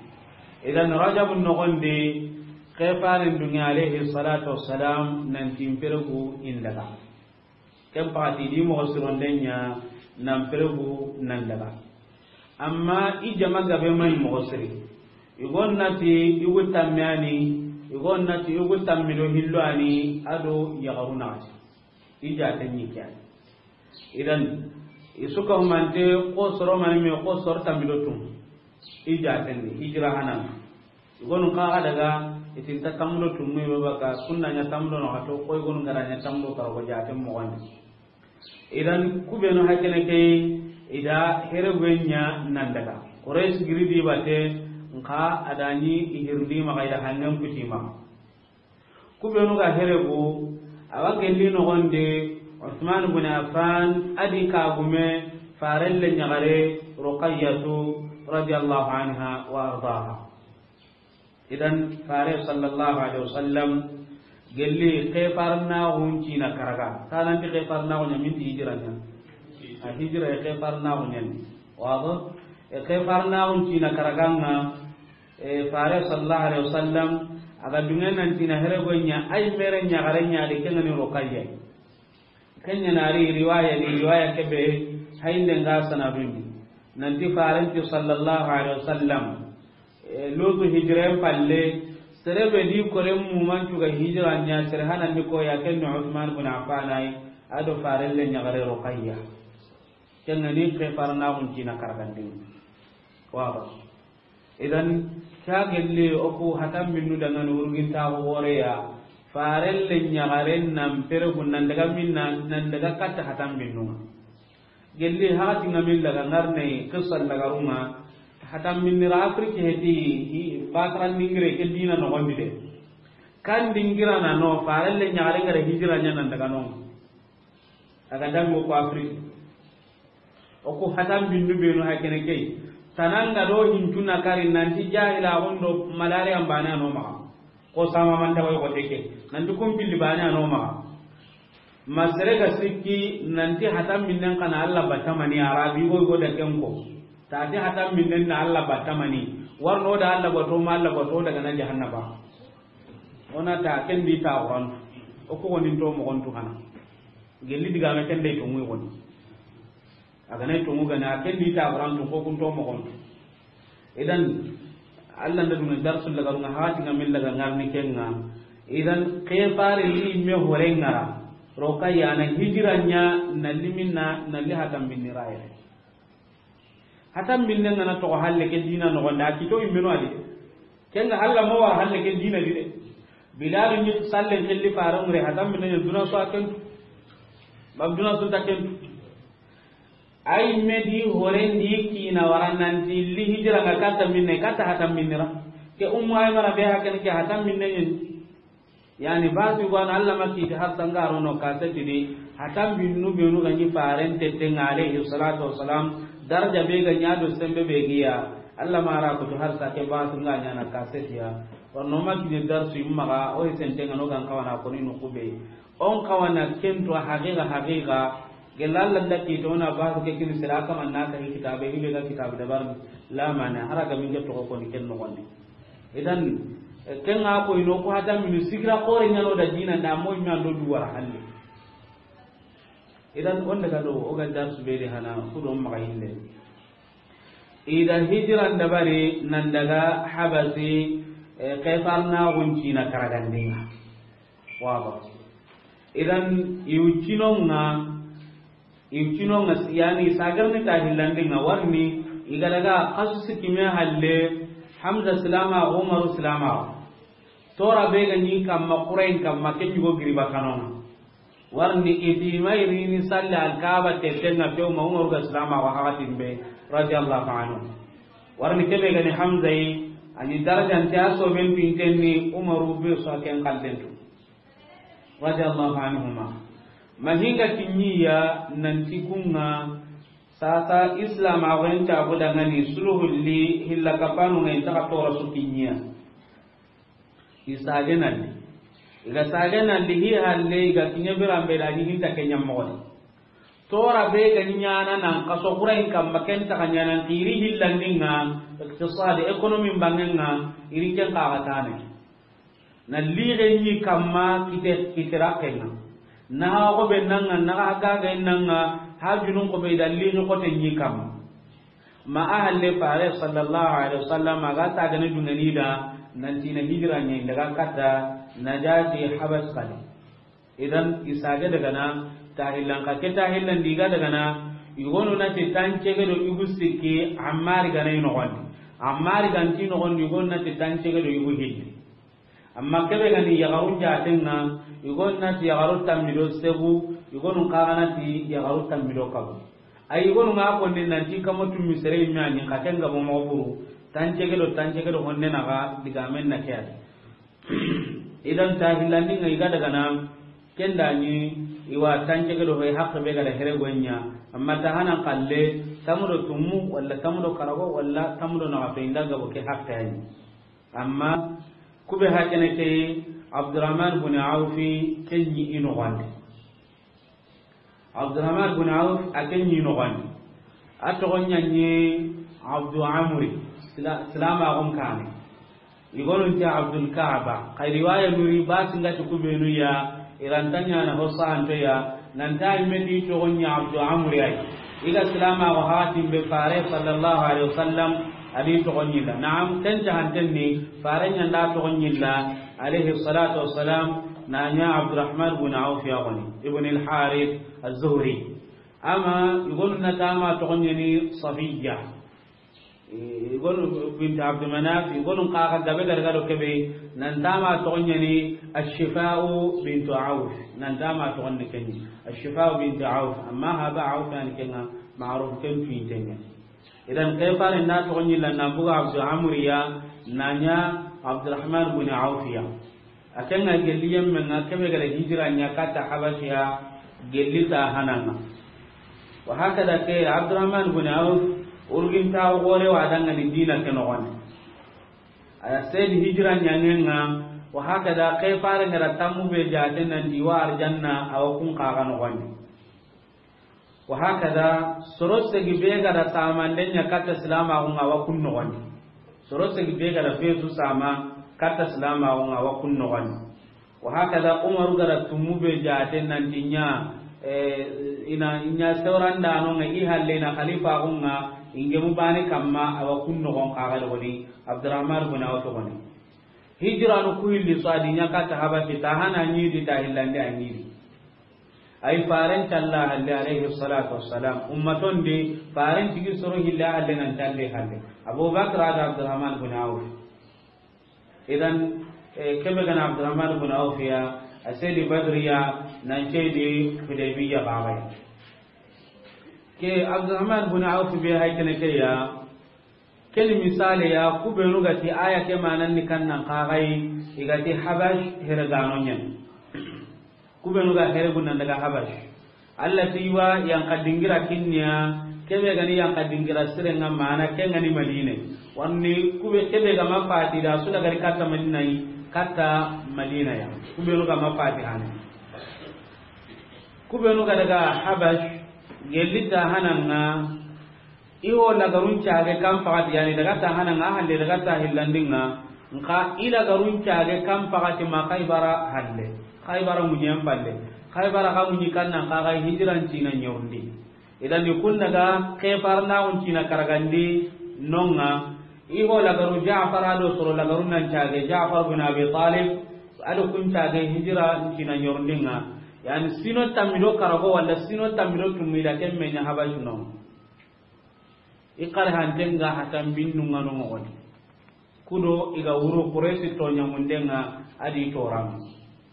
Idan Rajab nogondi, ke faren dunge alayhi salatu wassalam, nan tin pere gu indaga. Ken pati di moxo sironden ña nan pere gu nan daga. Amma i jama gabe may moxo siri. I gon nati i gu tamme ani, i gon nati i gu tammi do hillo ani, a do yaxaru naxati. I jaten ñi ke ani. Idan, i suka humante ko soro mani me ko soro tammi do tum. I jaten di, hijira hanan. I gonu xa daga, i tinta tammudo tummu i baka, kunna ña tammudo no xato, koy gonu gara ña tammudo karo ko jaten moxondi. Idan, kubenu hakene ke, ida here gu ña nan daga. Quraysh giri di bate, nxa adani i hirndi maxa ida hangen kuti maxa. Kubenu ga here gu, awa gelli noxondi, Uthman ibn Affan, adi kagume, farelle ñaxare, Ruqayyatu, radiyallahu anha wa ardaha. Idan fare sallallahu alaihi wasallam gelli kefarnaxun cina karaga. Tananti kefarnaxu ña minti hijira ña. A hijira e kefarnaxu ñani. Wado? E kefarnaxun cina karaganga, e fare sallallahu alaihi wasallam, aga dungen nan cina here go ña, ay mere ñaxare ña de kengani Ruqayya. Kenya nari riwaya ni riwaya kebe hainde nga sanadundi. Nanti farenti sallallahu alaihi wasallam, e, lutu hijren palle, serebe di kore muman cuga hijra ña sere hanandi ko ya ken Uthman bin Affan ay, ado farelle ñagare Ruqayya. Kengani kefarnaxun cina karagandin. Waba. Idan, ka gelli oku hatan minnu dangani urgintaxu xoreya, farelle ñaxaren nan pere gu nan daga minna, nan daga katta hatan minnunga. Gelli hakatinga min laga ngarne, qissa lagarunga, hatan minnira Afrique heti, i bataran dingire ke dina noxondi de. Kan dingirana no, farelle ñaxaren gara hijira ña nan daga non. Aga dango ko Afrique. Oku hatan bindu benu hakene key. Tananga do hincu na kari nanti jahila gondo malaria mbane ano maxa. Ko sama manta way ko teke. Nanti kumpilli bane ano maxa. Masere ga sikki nanti hatan minnen kana Allah batamani arabi go go da kenko. Tati hatan minnen na Allah batamani. Warno da Allah bato ma Allah bato daga na jahannaba. Ona ta kendi ta Qur'an. Oku gonin to moxon tu hana. Gelli digame kende to muy goni. A ga na tongu gana, a ken di ta barantu ko kun to moxon. Idan, Allah nda dunga darsu laga runga hati nga min laga ngarni kenga. Idan, ke fare ni me hore ngara. Ruqayya na hijira ña, na liminna, na li hatan binni raye. Hatan binne ngana to halle ke dina no gonda, kito immeno adi. Kenga Allah mo war halle ke dina di de. Bilal ni sallen kelli fare ngre hatan binne duna so akentu. Bab duna so takentu. Ay medi horendi kina warananti li hijira nga kata minne, kata hatan minnira. Ke Ummu Aymana be hakan ke hatan minne ñen. Yani batu wan Allah makki ta har sangaro no kaseti di hatan binnu benu ga ñi farente te nga alayhi salatu wassalam daraja be ga ñado sembe be giya. Allah mara ko to har sa ke batu nga ñana kaseti ya. Warno makki darsu imma ga o sente nga no gan kawana ko ni no kube. On kawana kento haqiqa haqiqa. Gella Allah nda ki to na ba ke kini sira kama na ka kitabe hibe ga kitabe da bar la mana haraga min to ko ni ken no gondi. Idan, eh, ken ga ko ino ko hatan min sigira kore ñano da dina da mo mi ando du wara halle. Idan on daga do o ga dar su be de hana ku do ma ille. Ida hijran dabari nan daga Habasi, eh, Kaisar na gunci na karagandinga. Waba. Idan iwcinonga, iwcinonga yani sagarni ta hillandinga warni iga daga kasu sikime halle Hamza silama, Umaru silama. Tora be ga ni kamma Qurain kamma ke ñugo giriba kanonga. Warni iti mayrini salli alkaba tetenga few ma Umaru ga silama wa hakatin be radiyallahu anhu. Warni kebe ga ni Hamza yi A ni darajante a soben pinten ni Umaru be so a ken kallentu. Radiyallahu anhuma. Mahinga kinyiya nanti kunga sasa Islam a wenta abu dangani suluhulli hilla kapanu ngai taka tora su kinyiya. I sage nalli. I ga sage nalli hi halle i ga kinya birambe da ni hinta kenya moxo. Tora be ga ni ɲaana nan kaso xurayin kamma ken taxa ɲaana xiri hillandinga, iqtisadi, économie n bangenga, iri ken xaxa tane. Na lixe ɲi kamma kite, kite raxenga. Na ha xobe nanga, na ha gage nanga, ha junun xobe da lixe xote ɲi kamma. Ma a halle fare sallallahu alaihi wasallam a ga ta gani dungani da, nanti na hijira ɲi daga katta Najati Habas kadi. Idan i sage daga na tahillan ka ke tahillan diga daga na, yugonu na ti tancege do yugu sikki Ammar gana i noxondi. Ammar ganti noxondi yugonu na ti tancege do yugu hilli. Amma kebe gani yaxarun jatenga, yugonu na ti yaxaru tammi do segu, yugonu kaga na ti yaxaru tammi do kabu. Ay yugonu nga konni nanti kamo tummi sere imme a ɲi ka ken gabo moxo buru, tancege do tancege do honne naxa digamen na ke adi. Idan tahillandinga i ga daga na, kenda ni i wa tancege do hoy hakke be ga da here gonya, amma ta hanan kalle, tamudo tummu, walla tamudo karago, walla tamudo naxato inda gabo ke hakke yani. Amma kube hakene ke Abdurrahman bin Awfi kenyi ino wande. Abdurrahman bin Auf a ken ɲi noxondi. A toxon ɲa ɲi Abdu Amri, sila-, silamaxun kane. Igonun ti Abdul Kaaba. Xa riwaya nuri ba singati kubenu ya, iranta ɲana ho sahanto ya, nanta imme ti toxon ɲi Abdu Amri ay. Iga silamaxu haxatin be fare sallallahu alaihi wasallam, adi toxon ɲilla. Naam, ken jahanten ni, fare ɲanda toxon ɲilla, alaihi salatu wassalam, na ɲa Abdurrahman bin Auf ya goni, ibn al-Harith az-Zuhri. Ama igonu na tama toxon ɲa ni Safiya. Igonu bint Abd Manaf, igonu kaga gabe garga do kebe, nan tama toxon ɲa ni Ash-Shifa'u bint Auf, nan tama toxon ni kenyi. Ash-Shifa'u bint Auf, amma haba Auf yani kenga ma'ruf ken tuintenga. Idan ke fare na toxon ɲilla na buga Abdu Amriya, na ɲa Abdurrahman bin Awfiya. A ken ga gelli yemme nga kebe gada hijira ɲa katta Habashiya gelli ta hananga. Wa hakada ke Abdurrahman bin Auf urgin ta gore wa danga ni dina ke no wani. Aya sedi hijira ɲangenga, wa hakada ke fare ngara tammu be jaten nan di wa arjanna awa kun kaga no wani. Wa hakada, soro segi be gada tamanden ɲa katta silamaxu nga wa kun noxondi. Soro segi be gada fesu sama katta silamaxu nga wa kun noxondi. Wa hakada, Umaru gada tummu be jaten nan ti ɲa, eh, ina ɲa sewrandano nga i halle na khalifa xu nga ingemu bane kamma awa kun noxon kaga logoni Abdurrahman bin Auf goni. Hijranu ku hilli so adi ɲa katta Habasi ta hana ɲi di ta hillande a ɲi di. Ay faren talla halle alayhi salatu wassalam. Ummaton di faren tigi soro hille halle nan talle halle. Abu Bakr ada Abdurrahman bin Auf. Idan, eh, kebe gana Abdurrahman bin Auf ya, a sedi Badriya, nan sedi Hudaybiya babay. Ke Abdurrahman bin Auf be hay kene ke ya, Ken misale ya, kubenu gati aya ke manan ni kannan kagai, igati Habash heregano nyen. Kubenu ga heregunan daga Habash. Allah ti wa yanka dingira kinniya, kebe gani yanka dingira sirenga mana ke ngani Madina. Wanni kube kebe ga mafati da su daga katta Madina yi, katta Madina ya. Kubenu ga mafati hane. Kubenu ga daga Habash, gelita hananga, Iho lagarun cage kan pagati, yani daga ta hananga halle, daga ta hillandinga. Nka i lagarun cage kan pagati ma Khaybara halle. Khaybara munyen palle. Khaybara ka munyi kannan kaga hijiran cina nyorundi. Idan ni kun daga kefar na un cina karagandi nonga. Iho lagaru Ja'far ado soro lagarun nan cage Ja'far bin Abi Talib. Ado kun cage hijira cina nyorundinga. Yani sino tammido karago wala sino tammido tumida kemmenya Habash no. I kare hantenga hatan binnu ngano ngoni. Kudo iga wuro Quraysi tonya mundenga adi toram.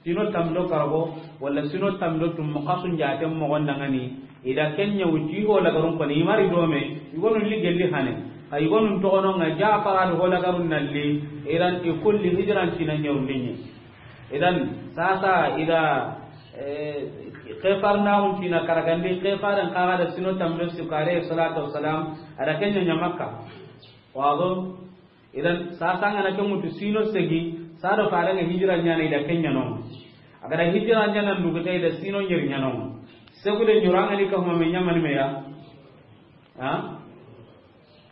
Sino tamdo karago, wala sino tamdo tum muqasun jatem mo gonda ngani. Ida kenya wuti ho lagarun ko ni mari dome, igonu ligelli hane. A yigonun toxonon ŋa Jafar do holagarun nalli, idan i kulli hijran cina ɲerundinye. Idan sasa ida, eh, kefarnaxun cina karagandi, kefaren kaga da sino tambe su ko alayhi salatu wassalam, a da ken ɲa Makka. Wado, idan sasa ngana ke mutu sino segi, sado farenga hijra ɲana ida ken ɲanon. A ga da hijra ɲana ndugute ida sino ɲeri ɲanon. Segude ɲurangani ka huma me ɲamani meya. Ha?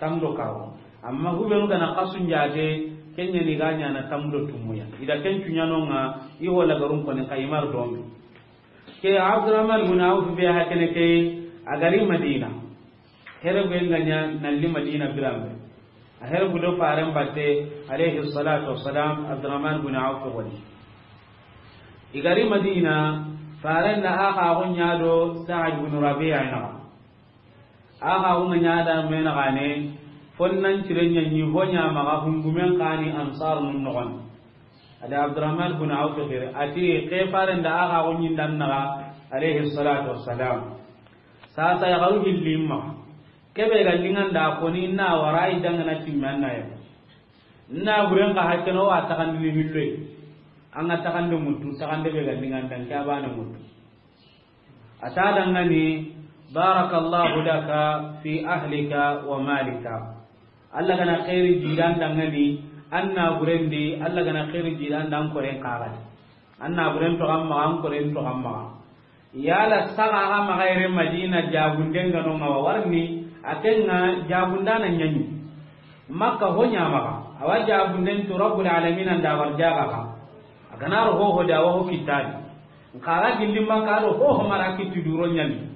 Tamdo kawo. Amma hubenu gana kasun jate, kenya ni ga ɲana tamdo tumuya. Ida ken cuɲanonga, i holagarun koni kayimar domi. Ke Abdurrahman bin Auf be hakene ke, a gari Madina. Here be nga ɲa nalli Madina birambe. A here gudo faren batte, alayhi salatu wassalam, Abdurrahman bin Auf wali. I gari Madina, faren da aka gun ɲa do Sa'ad bin Rabi'a na. Aka gunga ɲada mena gane, fonnan cirenya ni honya maga hungumen kani ansar nun nogon. Ada Abdurrahman bin Auf kire, ati ke faren da aka gunyin dan naga, alayhi salatu wassalam. Sasa ya garu hillimma. Kebe ga lingan da koni na warai dangana timmanna ya. Na buren ka hakkeno wa takandini hilloy. Anga takande mutu, takande be ga lingan dan kabana mutu. A ta dangani, "Barakallahu laka fi ahlika wa malika." Allah gana khairi jidan dangani, anna burendi, Allah gana khairi jidan dan koren kagadi. Anna buren to gamma, an koren to gamma. Yala saga ga magayre Madina jabunden gano ngawa warni, akenga jabundana ɲani. Makka ho ɲamaga, awa jabunden to Rabbul Alamin anda war jaga ga. A gana ro hoho da wa ho kittadi. Nkaga gilli Makka do hoho mara kitti duro ɲani.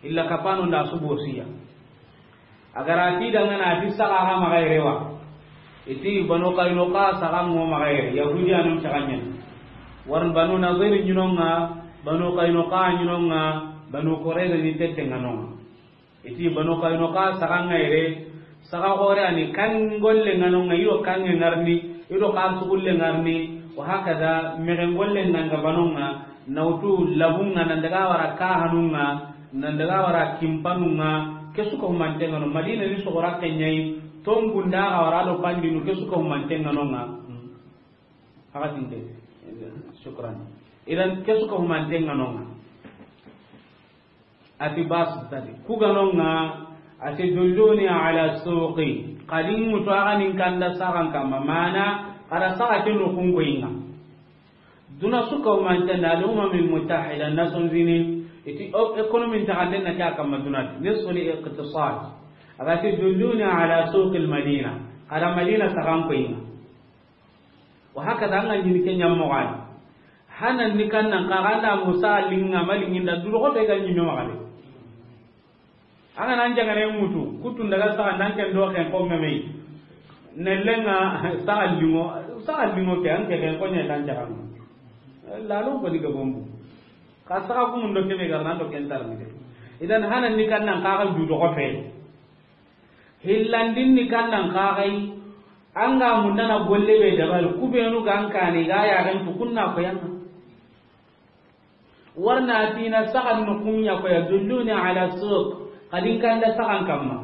Illa kapano nda subosiya. A gara ti dangana ti saga ha magayre wa. Iti Banu Qaynuqa saga ngo magayre. Yahudi anun caga ɲani. Warn Banu Nadir ɲinonga, Banu Qaynuqa ɲinonga, Banu Qurayza ni tette nganonga. Iti Banu Qaynuqa saga ngayre, saga gore ani kan golle nganonga, ido kange ngarni, ido kan sugulle ngarni, wa hakada megen golle nganga banonga, nautu labunga nan daga wara kahanunga, nan daga wara kimpanunga, kesuka humante ngano, Madina ni sogora kenyai, tongunda ga wara do pandinu kesuka humante nganonga. Hakatinte, shukran. Idan kesuka humante nganonga. Ati bas tadi. Kuganonga, ati dulluni ala suqi. Kadin mutu aganin kanda sagan kama. Mana, kada saga kinu kungo inga. Duna suka humante na al-Umam al-Muttahida, Nations Unies, iti o-, economy nta kande na kya kama duna. Nisfu li iqtisad. Agati dulluni ala suqi al-Madina. Kada Madina sagan ko inga. Wa hakada anga ɲini ke ɲammo gani. Hanan ni kannan ka ganda musa linga malinginda duro ko be ga ɲimme magale. Anga nan jangane mutu, kutun daga saga nan ken do ken ko ngamei. Nellenga saga lingo, saga lingo ke an ke ken ko ɲe nan jagan. Lalo ko diga bombu. Ka saga ku mun do kebe gar nan do ken tar ni de. Idan hanan ni kannan ka ga du do ko fe. Hillandin ni kannan ka gai. Anga mundana golle be dabal, kubenu gan kani ga ya gan tukunna ko yanga. Warna tina sagan no kunya ko ya dulluni ala suq, kadin kanda sagan kamma.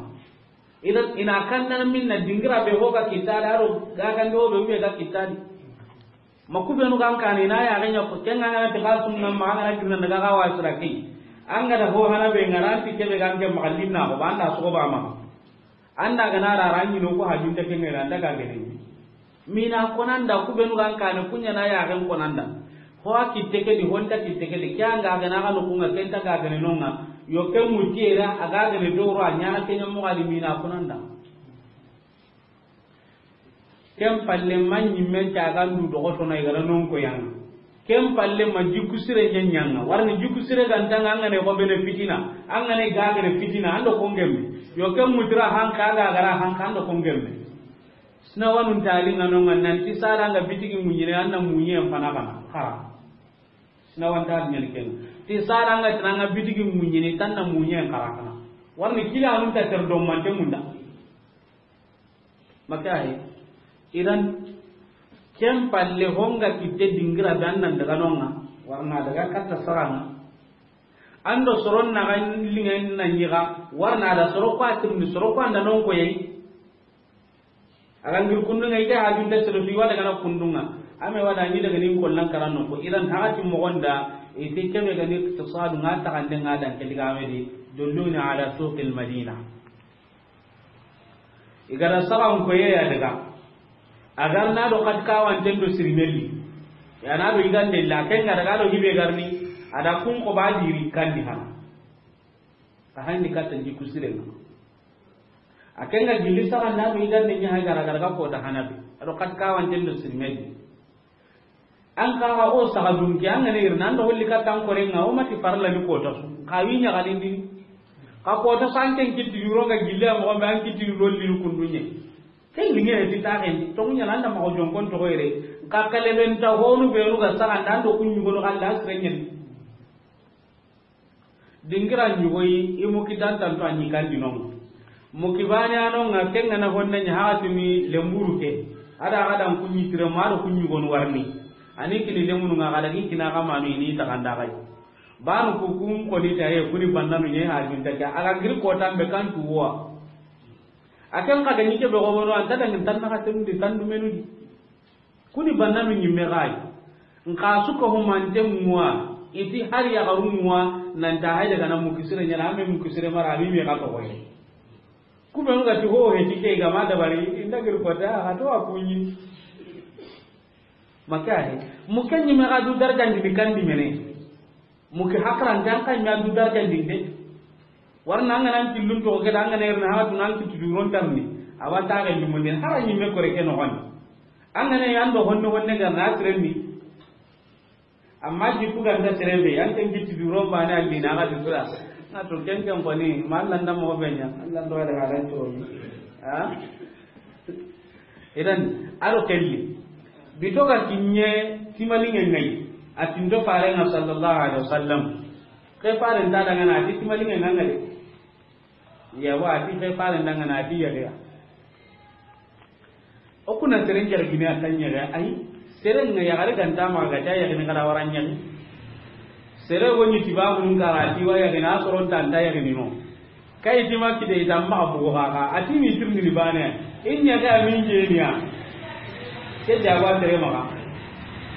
Idan ina kanna minna dingira be hoga kitadi, aro ga kan do be ga kitadi. Ma kubenu gan kani na ya ganya ko kenga na ta sunna ma ga na kirna daga ga wasira ki. Anga da ho hana be ngaranti kebe gan ke magallin na ko banda so ba ma. Anda gana ra rangi no ko hajunta ke ngera daga gene. Mina konanda kubenu gan kane kunya na ya gan konanda. Ho a kitte ke di, honta kitte ke di, kya nga gana ga no kunga kenta ga gene nonga. Yo ke mutiera aga gene doro a nyana kenya mo ga di mina konanda. Ken palle ma ɲimmen cagandu dogotono i gara non ko yanga. Ken palle ma jikku sire ɲaɲanga. Warni jikku sire gantanga angane ko bene fitina. Angane gagene fitina. Ando ko ngemme. Yo ken mutira hanka ga gara hanka ando ko ngemme. Sina wanun tali ngano ngan nan ti sara nga bitigi munyine anna munye fana kana. Kara. Sina wan tali nyani ken. Ti sara nga tinanga bitigi munyine tanna munye kara kana. Warni kila anun ta ter do mante munda. Makahi. Idan, ken palle honga kitte dingira be annan daga nonga, warna daga katta saranga. An do soron na ga linŋen na ɲiga, warna da soro ko a tirindi, soro ko an da non ko yayi. A ga ngir kundunŋa, i ke hajunte sere su i wa daga na kundunŋa. A me wa da ɲi daga ni kollan karan no ko. Idan hagati moxon da, i ti kebe ga ni iqtisadu ŋa taxande ŋa dan ke diga me di, dulluni ala suqil Madina. I ga da saxan koye ya daga. A gar na do kat kawanten do sirimelli. Ya na do i gande la, ken ga daga do hibe garni, a da kun ko ba diri kandi hana. A handi katta ndi kusirenga. A ken ga gilli saxan na do i gande ɲa ha gara gara ga ko da hana be. A do kat kawanten do sirimelli. An ka ga o saga dunke, an ga ne irna, an do holli ka tan korenga, o mati farla ni kota su. Ka wi ɲa galindi. Ka kota su an ken kitti yuro ga gille, a moxo be an kitti yuro linu kundunye. Ken linge ti taxen, to ɲa landa ma o jonkon to hoyre. Ka kale ben ta honu be ru ga saga ndan do kunyu gono kan da srengen. Dingira ɲugoyi, i muki dantanto a ɲi kandi nonga. Muki bane a nonga, ken ga na honne ɲa haxatini lemburu ke. A da ga dan kuɲi tire ma do kuɲi gonu warni. Ani kini lemunu nga ga da gi kina ga manu ini taxanda ga. Banu ku kun koni ta ye kuni bannanu ɲe ha junta ke. A ga giri kotan be kan tuwa. A ken xa ga ɲi ke be gobono, an ta dangin tan na xa tenundi, tan dumenu di. Kuni bannanu ɲimme xayi. Nxa suka humante ŋuwa, i ti hari yaxaru ŋuwa, nanta hay daga na mukisire ɲana, a me mukisire mara, a mi me xa toxoye. Kubenu ga ti ho he ti ke ga ma dabari, i nda gir kota, a to a kuɲi. Maka he. Muke ɲimme xa du darjandi ni kandi mene. Muki hakarante an kan ɲa du darjandinde. Warna an ga na an killun toxo ke da an ga na irna ha tun an kitti duron tarni. A wa taxe lumunden hara ɲimme kore ke noxoni. An ga na an do honne honne ga na sirenni. Amma jikku ga nta sere be, an ken kitti duron bane a lina ga di sura. Na to ken ken koni, ma Allah nda mo be ɲa, Allah ndo wala halan to. Ha? Idan, aro kelli. Bito ga kinye timalinge ngai. A tindo farenga sallallahu alaihi wasallam. Ke faren ta daga na ti timalinge nanga de. Ya wa ti ke faren daga na ti ya ya. O kuna seren jar gine a tanya ga ai. Seren nga ya gare ganta ma ga ta ya gine kada waranya. Sere woni ti ba mun kara ti wa ya gine a soron ta nda ya gine no. Kay ti ma kide i tamma bugo kaka, a ti mi tirni ni bane. In ɲa ga min je niya. Ke jaba tere maga.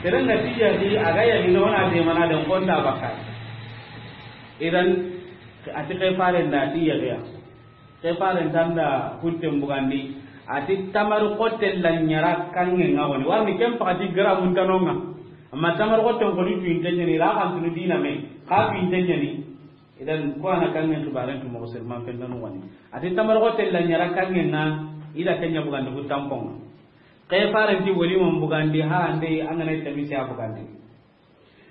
Tere na ti ya di a ga ya ni no na de mana den konta bakka. Idan a ti ke faren da ti ya ya. Ke faren tanda hutten bugandi. A ti tamar kotel la ɲara kange nga woni. Warni kem pakati gara mun tanonga. Amma tamar kotel ko ni tuinte ɲani ra kan tunu dina me. Ka tuinte ɲani. Idan ko ana kangen xibaren tu moxo sirman pen nanu wani. A ti tamar xote la ɲara kangen na, i da kenya bugandi ku tamponga. Ke faren ti wali mon bugandi ha ande an ga na tamisi a bugandi.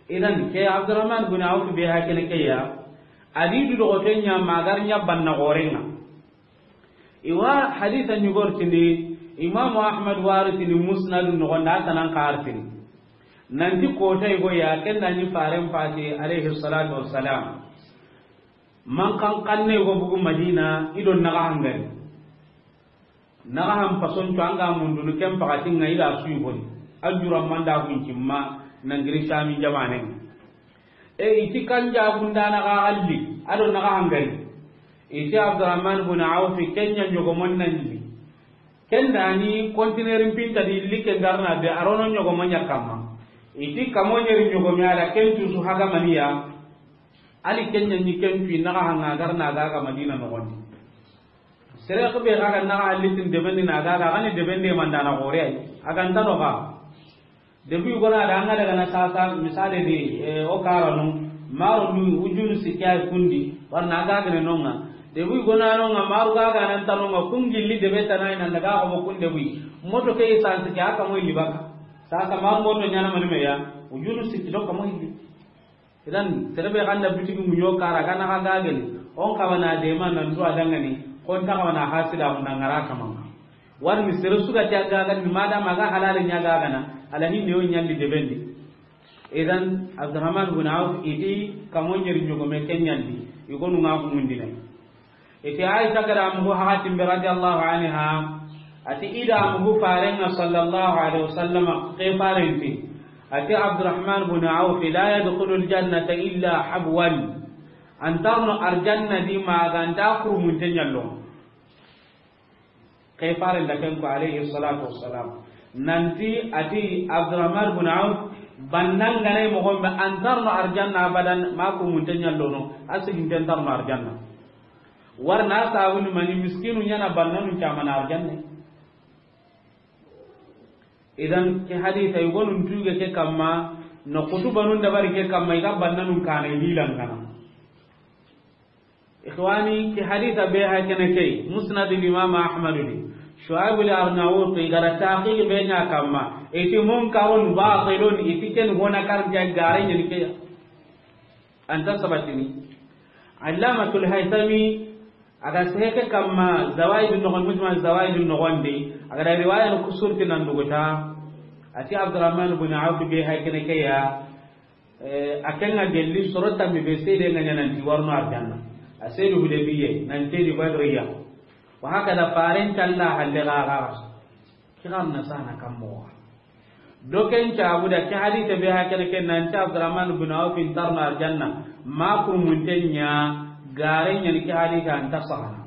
Idan ke Abdurrahman bin Auf be ha kene ke ya, a di du doxote ɲa magar ɲa banna gorenga. Iwa hadisa ɲugortini, Imamu Ahmad waritini Musnadu noxonda, a tanan kartini. Nanti kotay go ya, ken da ni faren fati, alayhi salatu wassalam. Man kan kanne go bugu Madina, i do naga hangari. Naga han pasonco an ga mundunu ken pakati nga i da suyi goni. A jura manda gun cimma, nangiri Sami jamanen. E, i ti kan jagundana ga galli, a do naga hangari. I ti Abdurrahman bin Auf, kenya ɲogomon nan li. Ken da ni conteneur pinta di li ken garna be a rono ɲogomo ɲa kamma. I ti kamo ɲeri ɲogomi a da ken tusu haga maniya. Ali kenya ni ken tu naga hanga garna ga ga Madina noxondi. Sere ko be ga ga naga hallitin debendi na ga ga ni debende mandana gore ay. A ga ntano ga. Debu gona da anga daga na sasa misale di, eh, o karanu, maru nu ujunu sikya kundi, warna aga gane nonga. Debu gona nonga, maru ga ga nan tanonga, kungilli debe tanai nan daga ko kun debu. Moto ke essence ke aka mo illi baka. Sasa maru moto ɲana mani meya, ujunu sikki do ka mo illi. Idan, sere be ganda bitigi mu ɲo kara, gana ga gagani, on kawana dema nan duwa dangani, kon ta kawana hasida mun dangara kamanga. Warni sere suga ti a gagani, madama ga halale ɲa gagana, ala hinne yo ɲalli debendi. Idan, Abdurrahman bin Auf, iti kamo ɲeri ɲogome ke ɲalli, i gonu nga humundine. Iti Aisha gada mugu hakatin be radiyallahu anha, ati ida mugu farenga sallallahu alaihi wasallam ke farenti. Ati Abdurrahman bin Auf la yadkhulu aljannata illa habwan. An tarno arjanna di ma ga nta kurumunte ɲallo. Ke faren da ken ko, alayhi salatu wassalam. Nanti a ti Abdurrahman bin Auf, banna ga na i moxo be, an tarno arjanna abadan, ma kurumunte ɲallono, a siginten tarno arjanna. Warna sabuni mani, miskinu ɲa na bannanu camana arjanna. Idan ke hadisa, i gonun tuge ke kamma, no kutubanun dabari ke kamma, i ga bannanun kana i lilan kana. Ikhwani, ke hadisa be ha kene ke, Musnad al Imam Ahmad ni, Shuaib al Arnaut, i ga da taqiq be ɲa kamma, i ti munkarun batilun, i ti ken hona kar ja gare ɲen ke ya. Anta sabatini. Allamatul Haythami, a ga seheke kamma Zawaid noxon, Mujma Zawaid noxon di, a ga da riwaya no kusurti nan duguta. A ti Abdurrahman bin Auf be ha kene ke ya, eh, a ken ga gelli soro tammi be sede nga ɲa nanti warno arjanna. A sedu Hudaybiya, nanti di Badriya. Wa hakada faren talla halle ga ga. Kiran na sana kammo. Doken cabu da ke hadise be ha kene ke nanti Abdurrahman bin Auf in tarno arjanna, ma kurumunten ɲa gare ɲa ni ke hadise anta sahana.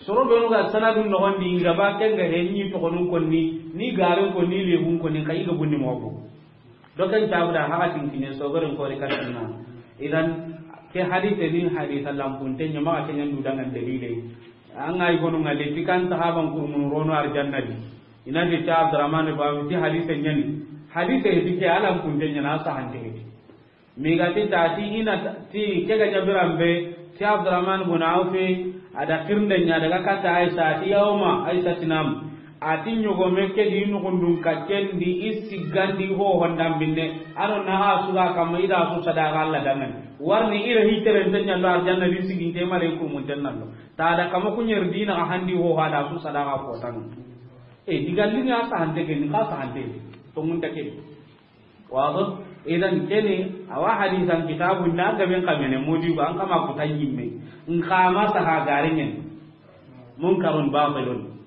Soro benu ga sanadun noxon di, i ga ba ken ga he ni toxonun konni, ni garen konni, lebun konni, ka i ga bunni moxo. Doken cabu da hakatin kine sogoren kori katanna. Idan ke hadise ni hadisa lampunte ɲa, ma ke ɲa ndu dangan dalile. An ga i gonu nga leti kan sahaban kurmunu rono arjanna di. Ina de ta Abdurrahman ba ti hadise ɲa ni. Hadise di ke a lampunte ɲa na sahante di. Mi ga ti ta ti ina ta-, ti ke ga jabiran be, ti Abdurrahman bin Auf a da kirnde ɲa daga kata Aisha, ti yawma Aisha tinam. A ti ɲogome ke di nugundun ka ken di i sigandi ho hondan binne. Ano na ha suga kamma i da su sadaka Allah dangan. Warni ira hiteren te ɲallo arjanna di siginte mare kurumunten nallo. Ta da kama kuɲer dina a handi ho ha da su sadaka ko tan. E, diga linga sahante ke ni ka sahante. To mun ta ke. Wado, idan kene, awa hadisan kitabu na gaben kamene modi ko an kama ko tan yimme. Nkama saha garingen. Munkarun batilun.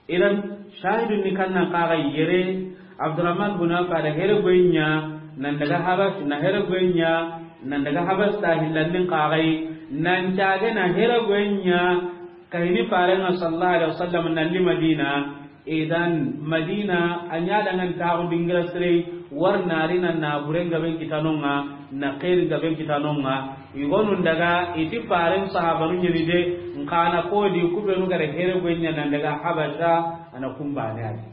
Idan shahidun ni kannan kaga yere, Abdurrahman bin Auf a da here goynya, nan daga Habas, na here goynya, nan daga Habas ta hillandin kagai, nan cage na here goynya, kahini farenga sallallahu alaihi wasallam nan li Madina, Idan Madina a ɲa dangan taxu dingira sire, war nari na naburen gaben kitanonga, na xeeri gaben kitanonga. I gonun daga i ti faren sahabanu ɲeni de, nkana kodi kubenu gare here goynya nan daga Habasha, ana kumbane adi.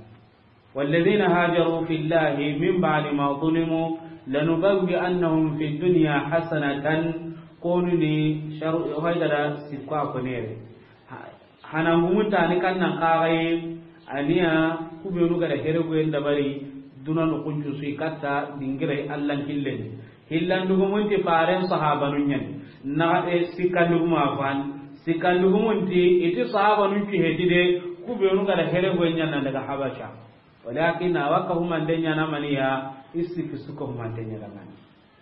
والذين هاجروا في الله من بعد ما ظلموا لنبوئنهم في الدنيا حسنة. Konu ni sharu haydara sikko a konere. Ha-, hanangumunta ni kannan kaxaye, aniya kubenu gada heregoyen dabari, duna nukuncu sui katta dingirai Allan killen. Hillandugumunti faren sahabanun ɲani. Na, e, sikkanduguma fan. Sikkandugumunti iti sahabanun cuheti de, kubenu gada heregoyen ɲanna daga Habasha. Walakin awa ka humante ɲana maniya, i sikki su ka humante ɲana mani.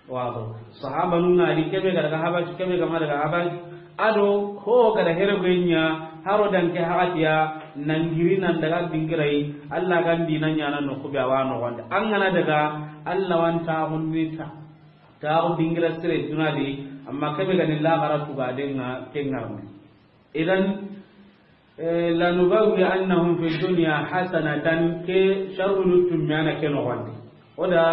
Wado. Sahabanun ŋa di kebe ga daga Habasha, kebe ga ma daga Habasha. Ado ho ga da here goynya, haro dan ke hagatiya, nan giri nan daga dingirai, Allah gan dina ɲana no kube awa no gonda. An gana daga, Allah wan ta gunni ta. Ta dingira sire duna di, amma kebe ga ni la gara tuga denga kengarni. Idan, eh, lanubawwi'annahum fid dunya hasanatan, ke sharru nuttum yana ke no wandi. Oda,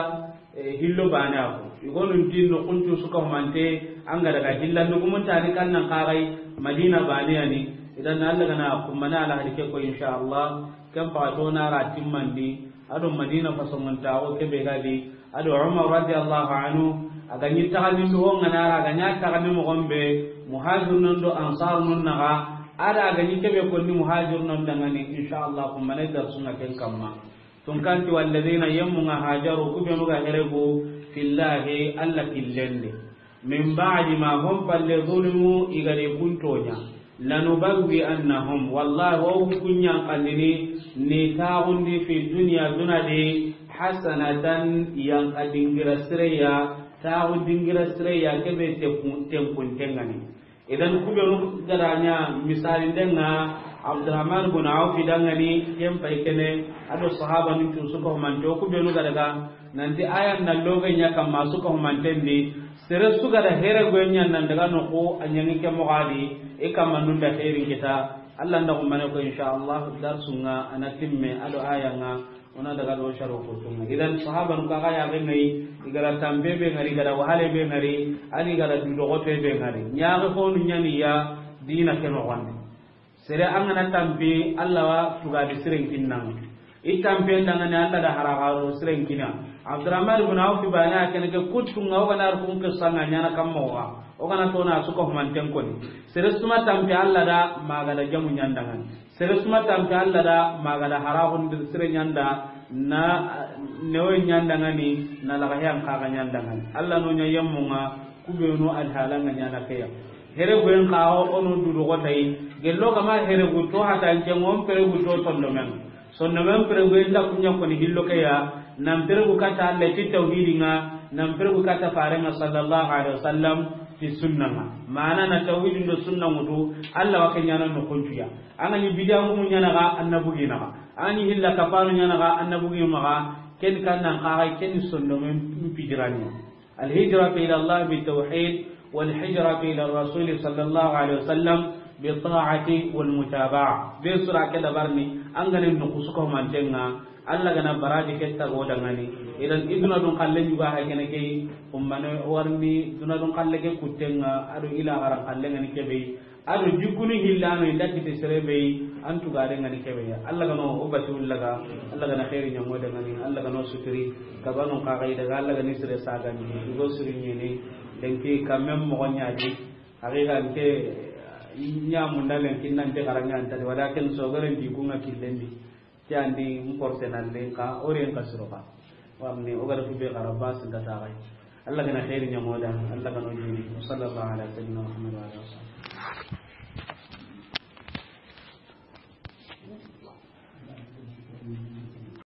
eh, hillo bane ako. Igonun tin no kuntu suka humante, an ga daga hillandugumunta ni kannan kagai Madina bane yani. Idan Allah gana kummana ala hadike ko insha Allah. Kan fa to na ra timmandi. Ado Madina fasongontaxo kebe ga di, ado Umar radiyallahu anhu, a ga ɲi taxandindu ho ŋa na ra, a ga ɲa taxandi moxon be, muhajirunun do ansarunun naxa, ada a ga ɲi kebe konni muhajirunun dangani, insha Allah, kumbane darsunga ken kamma. Tunkanti walladina yemmunga hajaru, kubenu ga heregu, fillahi, Allah killende. Min ba'di ma hum palle zulimu, i ga di kuntoɲa. Lanubawwi'annahum, wallahi, wo kunɲan kandini, ni taxundi fi dunya duna di, hasanatan, yanka dingira sireya, taxu dingira sireya, kebe tenkun, tenkun tengani. Idan kubenu gada ɲa misali ndenga Abdurrahman bin Auf dangani, ken pay kene, ado sahaba ni tu suka humante, kubenu gada ga, nanti ayan na loge ɲa kamma suka humanten di, Sere su ga da here goyen ɲa nan daga noxo, a ɲaŋi ke moxo di, i kamma nun da herin kita. Allah nda xumane ko, insha Allah, darsunŋa a na timme, a do ayanŋa, o na daga do saro ko tunŋa. Idan, sahabanu ka ga ya be ŋari, i ga da tampe be ŋari, i ga da wahale be ŋari, a ni i ga da dudoxote be ŋari. Ɲaxe fonu ɲani ya dina ke noxon di. Sere an ga na tampi, Allah wa tugadi siren kinnan. I tampen dangani Allah da haraxaro siren kina. Abdurrahman ibn Auf bana kene ke kuttunŋa, o ga na rukun ke sanga ɲana kamma wa. O ga na tona suka humanten koni. Sere su ma tampi Allah da, ma ga da jamu ɲandangani. Sere su ma tampi Allah da, ma ga da haraxun sire ɲanda, na newe ɲandangani, na laga heyan kaga ɲandangani. Allah no ɲa yemmunŋa, kubenu alhalanga ɲana keya. Here goyen kawo, o no dudu gotayi. Gello gama here gu to hata ncen ŋo, pere gu to sondomen. Sondomen pere goyen da kunya koni hillo keya. Nan pere gu kata Allah ti tawhidinŋa, nan pere gu kata farenŋa sallallahu alaihi wasallam ti sunnanŋa. Mana na tawhidin do sunna ŋutu, Allah wa ke ɲana no kuncuya. An ga ni bidiyanŋu ɲana ga, an na bugi na ga. An ga ni hilla kapano ɲana ga, an na bugi ma ga. Ken kan nan kaga, ken sondomen pijirani. الهجرة إلى الله بالتوحيد، والهجرة إلى الرسول صلى الله عليه وسلم بالطاعة والمتابعة. Be sura ke dabarni, an ga ni nukusu ko mantenŋa, Allah ga na baraji ke tago dangani. Idan iduna dun kallen juga ha kene ke, ummane warni, duna dun kalle ke kuttenŋa, a do ila garan kallen ŋa ni kebe. A do jikunu hillano inda kite sere be, an tugare ŋa ni kebe ya. Allah ga no o bati ullaga, Allah ga na khairi ɲa mo dangani, Allah ga no suturi, kabano ka ga i daga, Allah ga ni sere sagani, i go suri ɲini, lenki kamem mo ɲadi, haqiqa nke ɲa munda lenki nan te garanga anta, walakin so garen di kunga killendi. Ti andi n porte na lenka, o ren ka suro ka. Warni o ga da kube garaba sinda tagai. Allah ga na khairi ɲa mo da, Allah ga no jini. Wa sallallahu ala sayyidina Muhammad wa ala alihi wa sahbihi.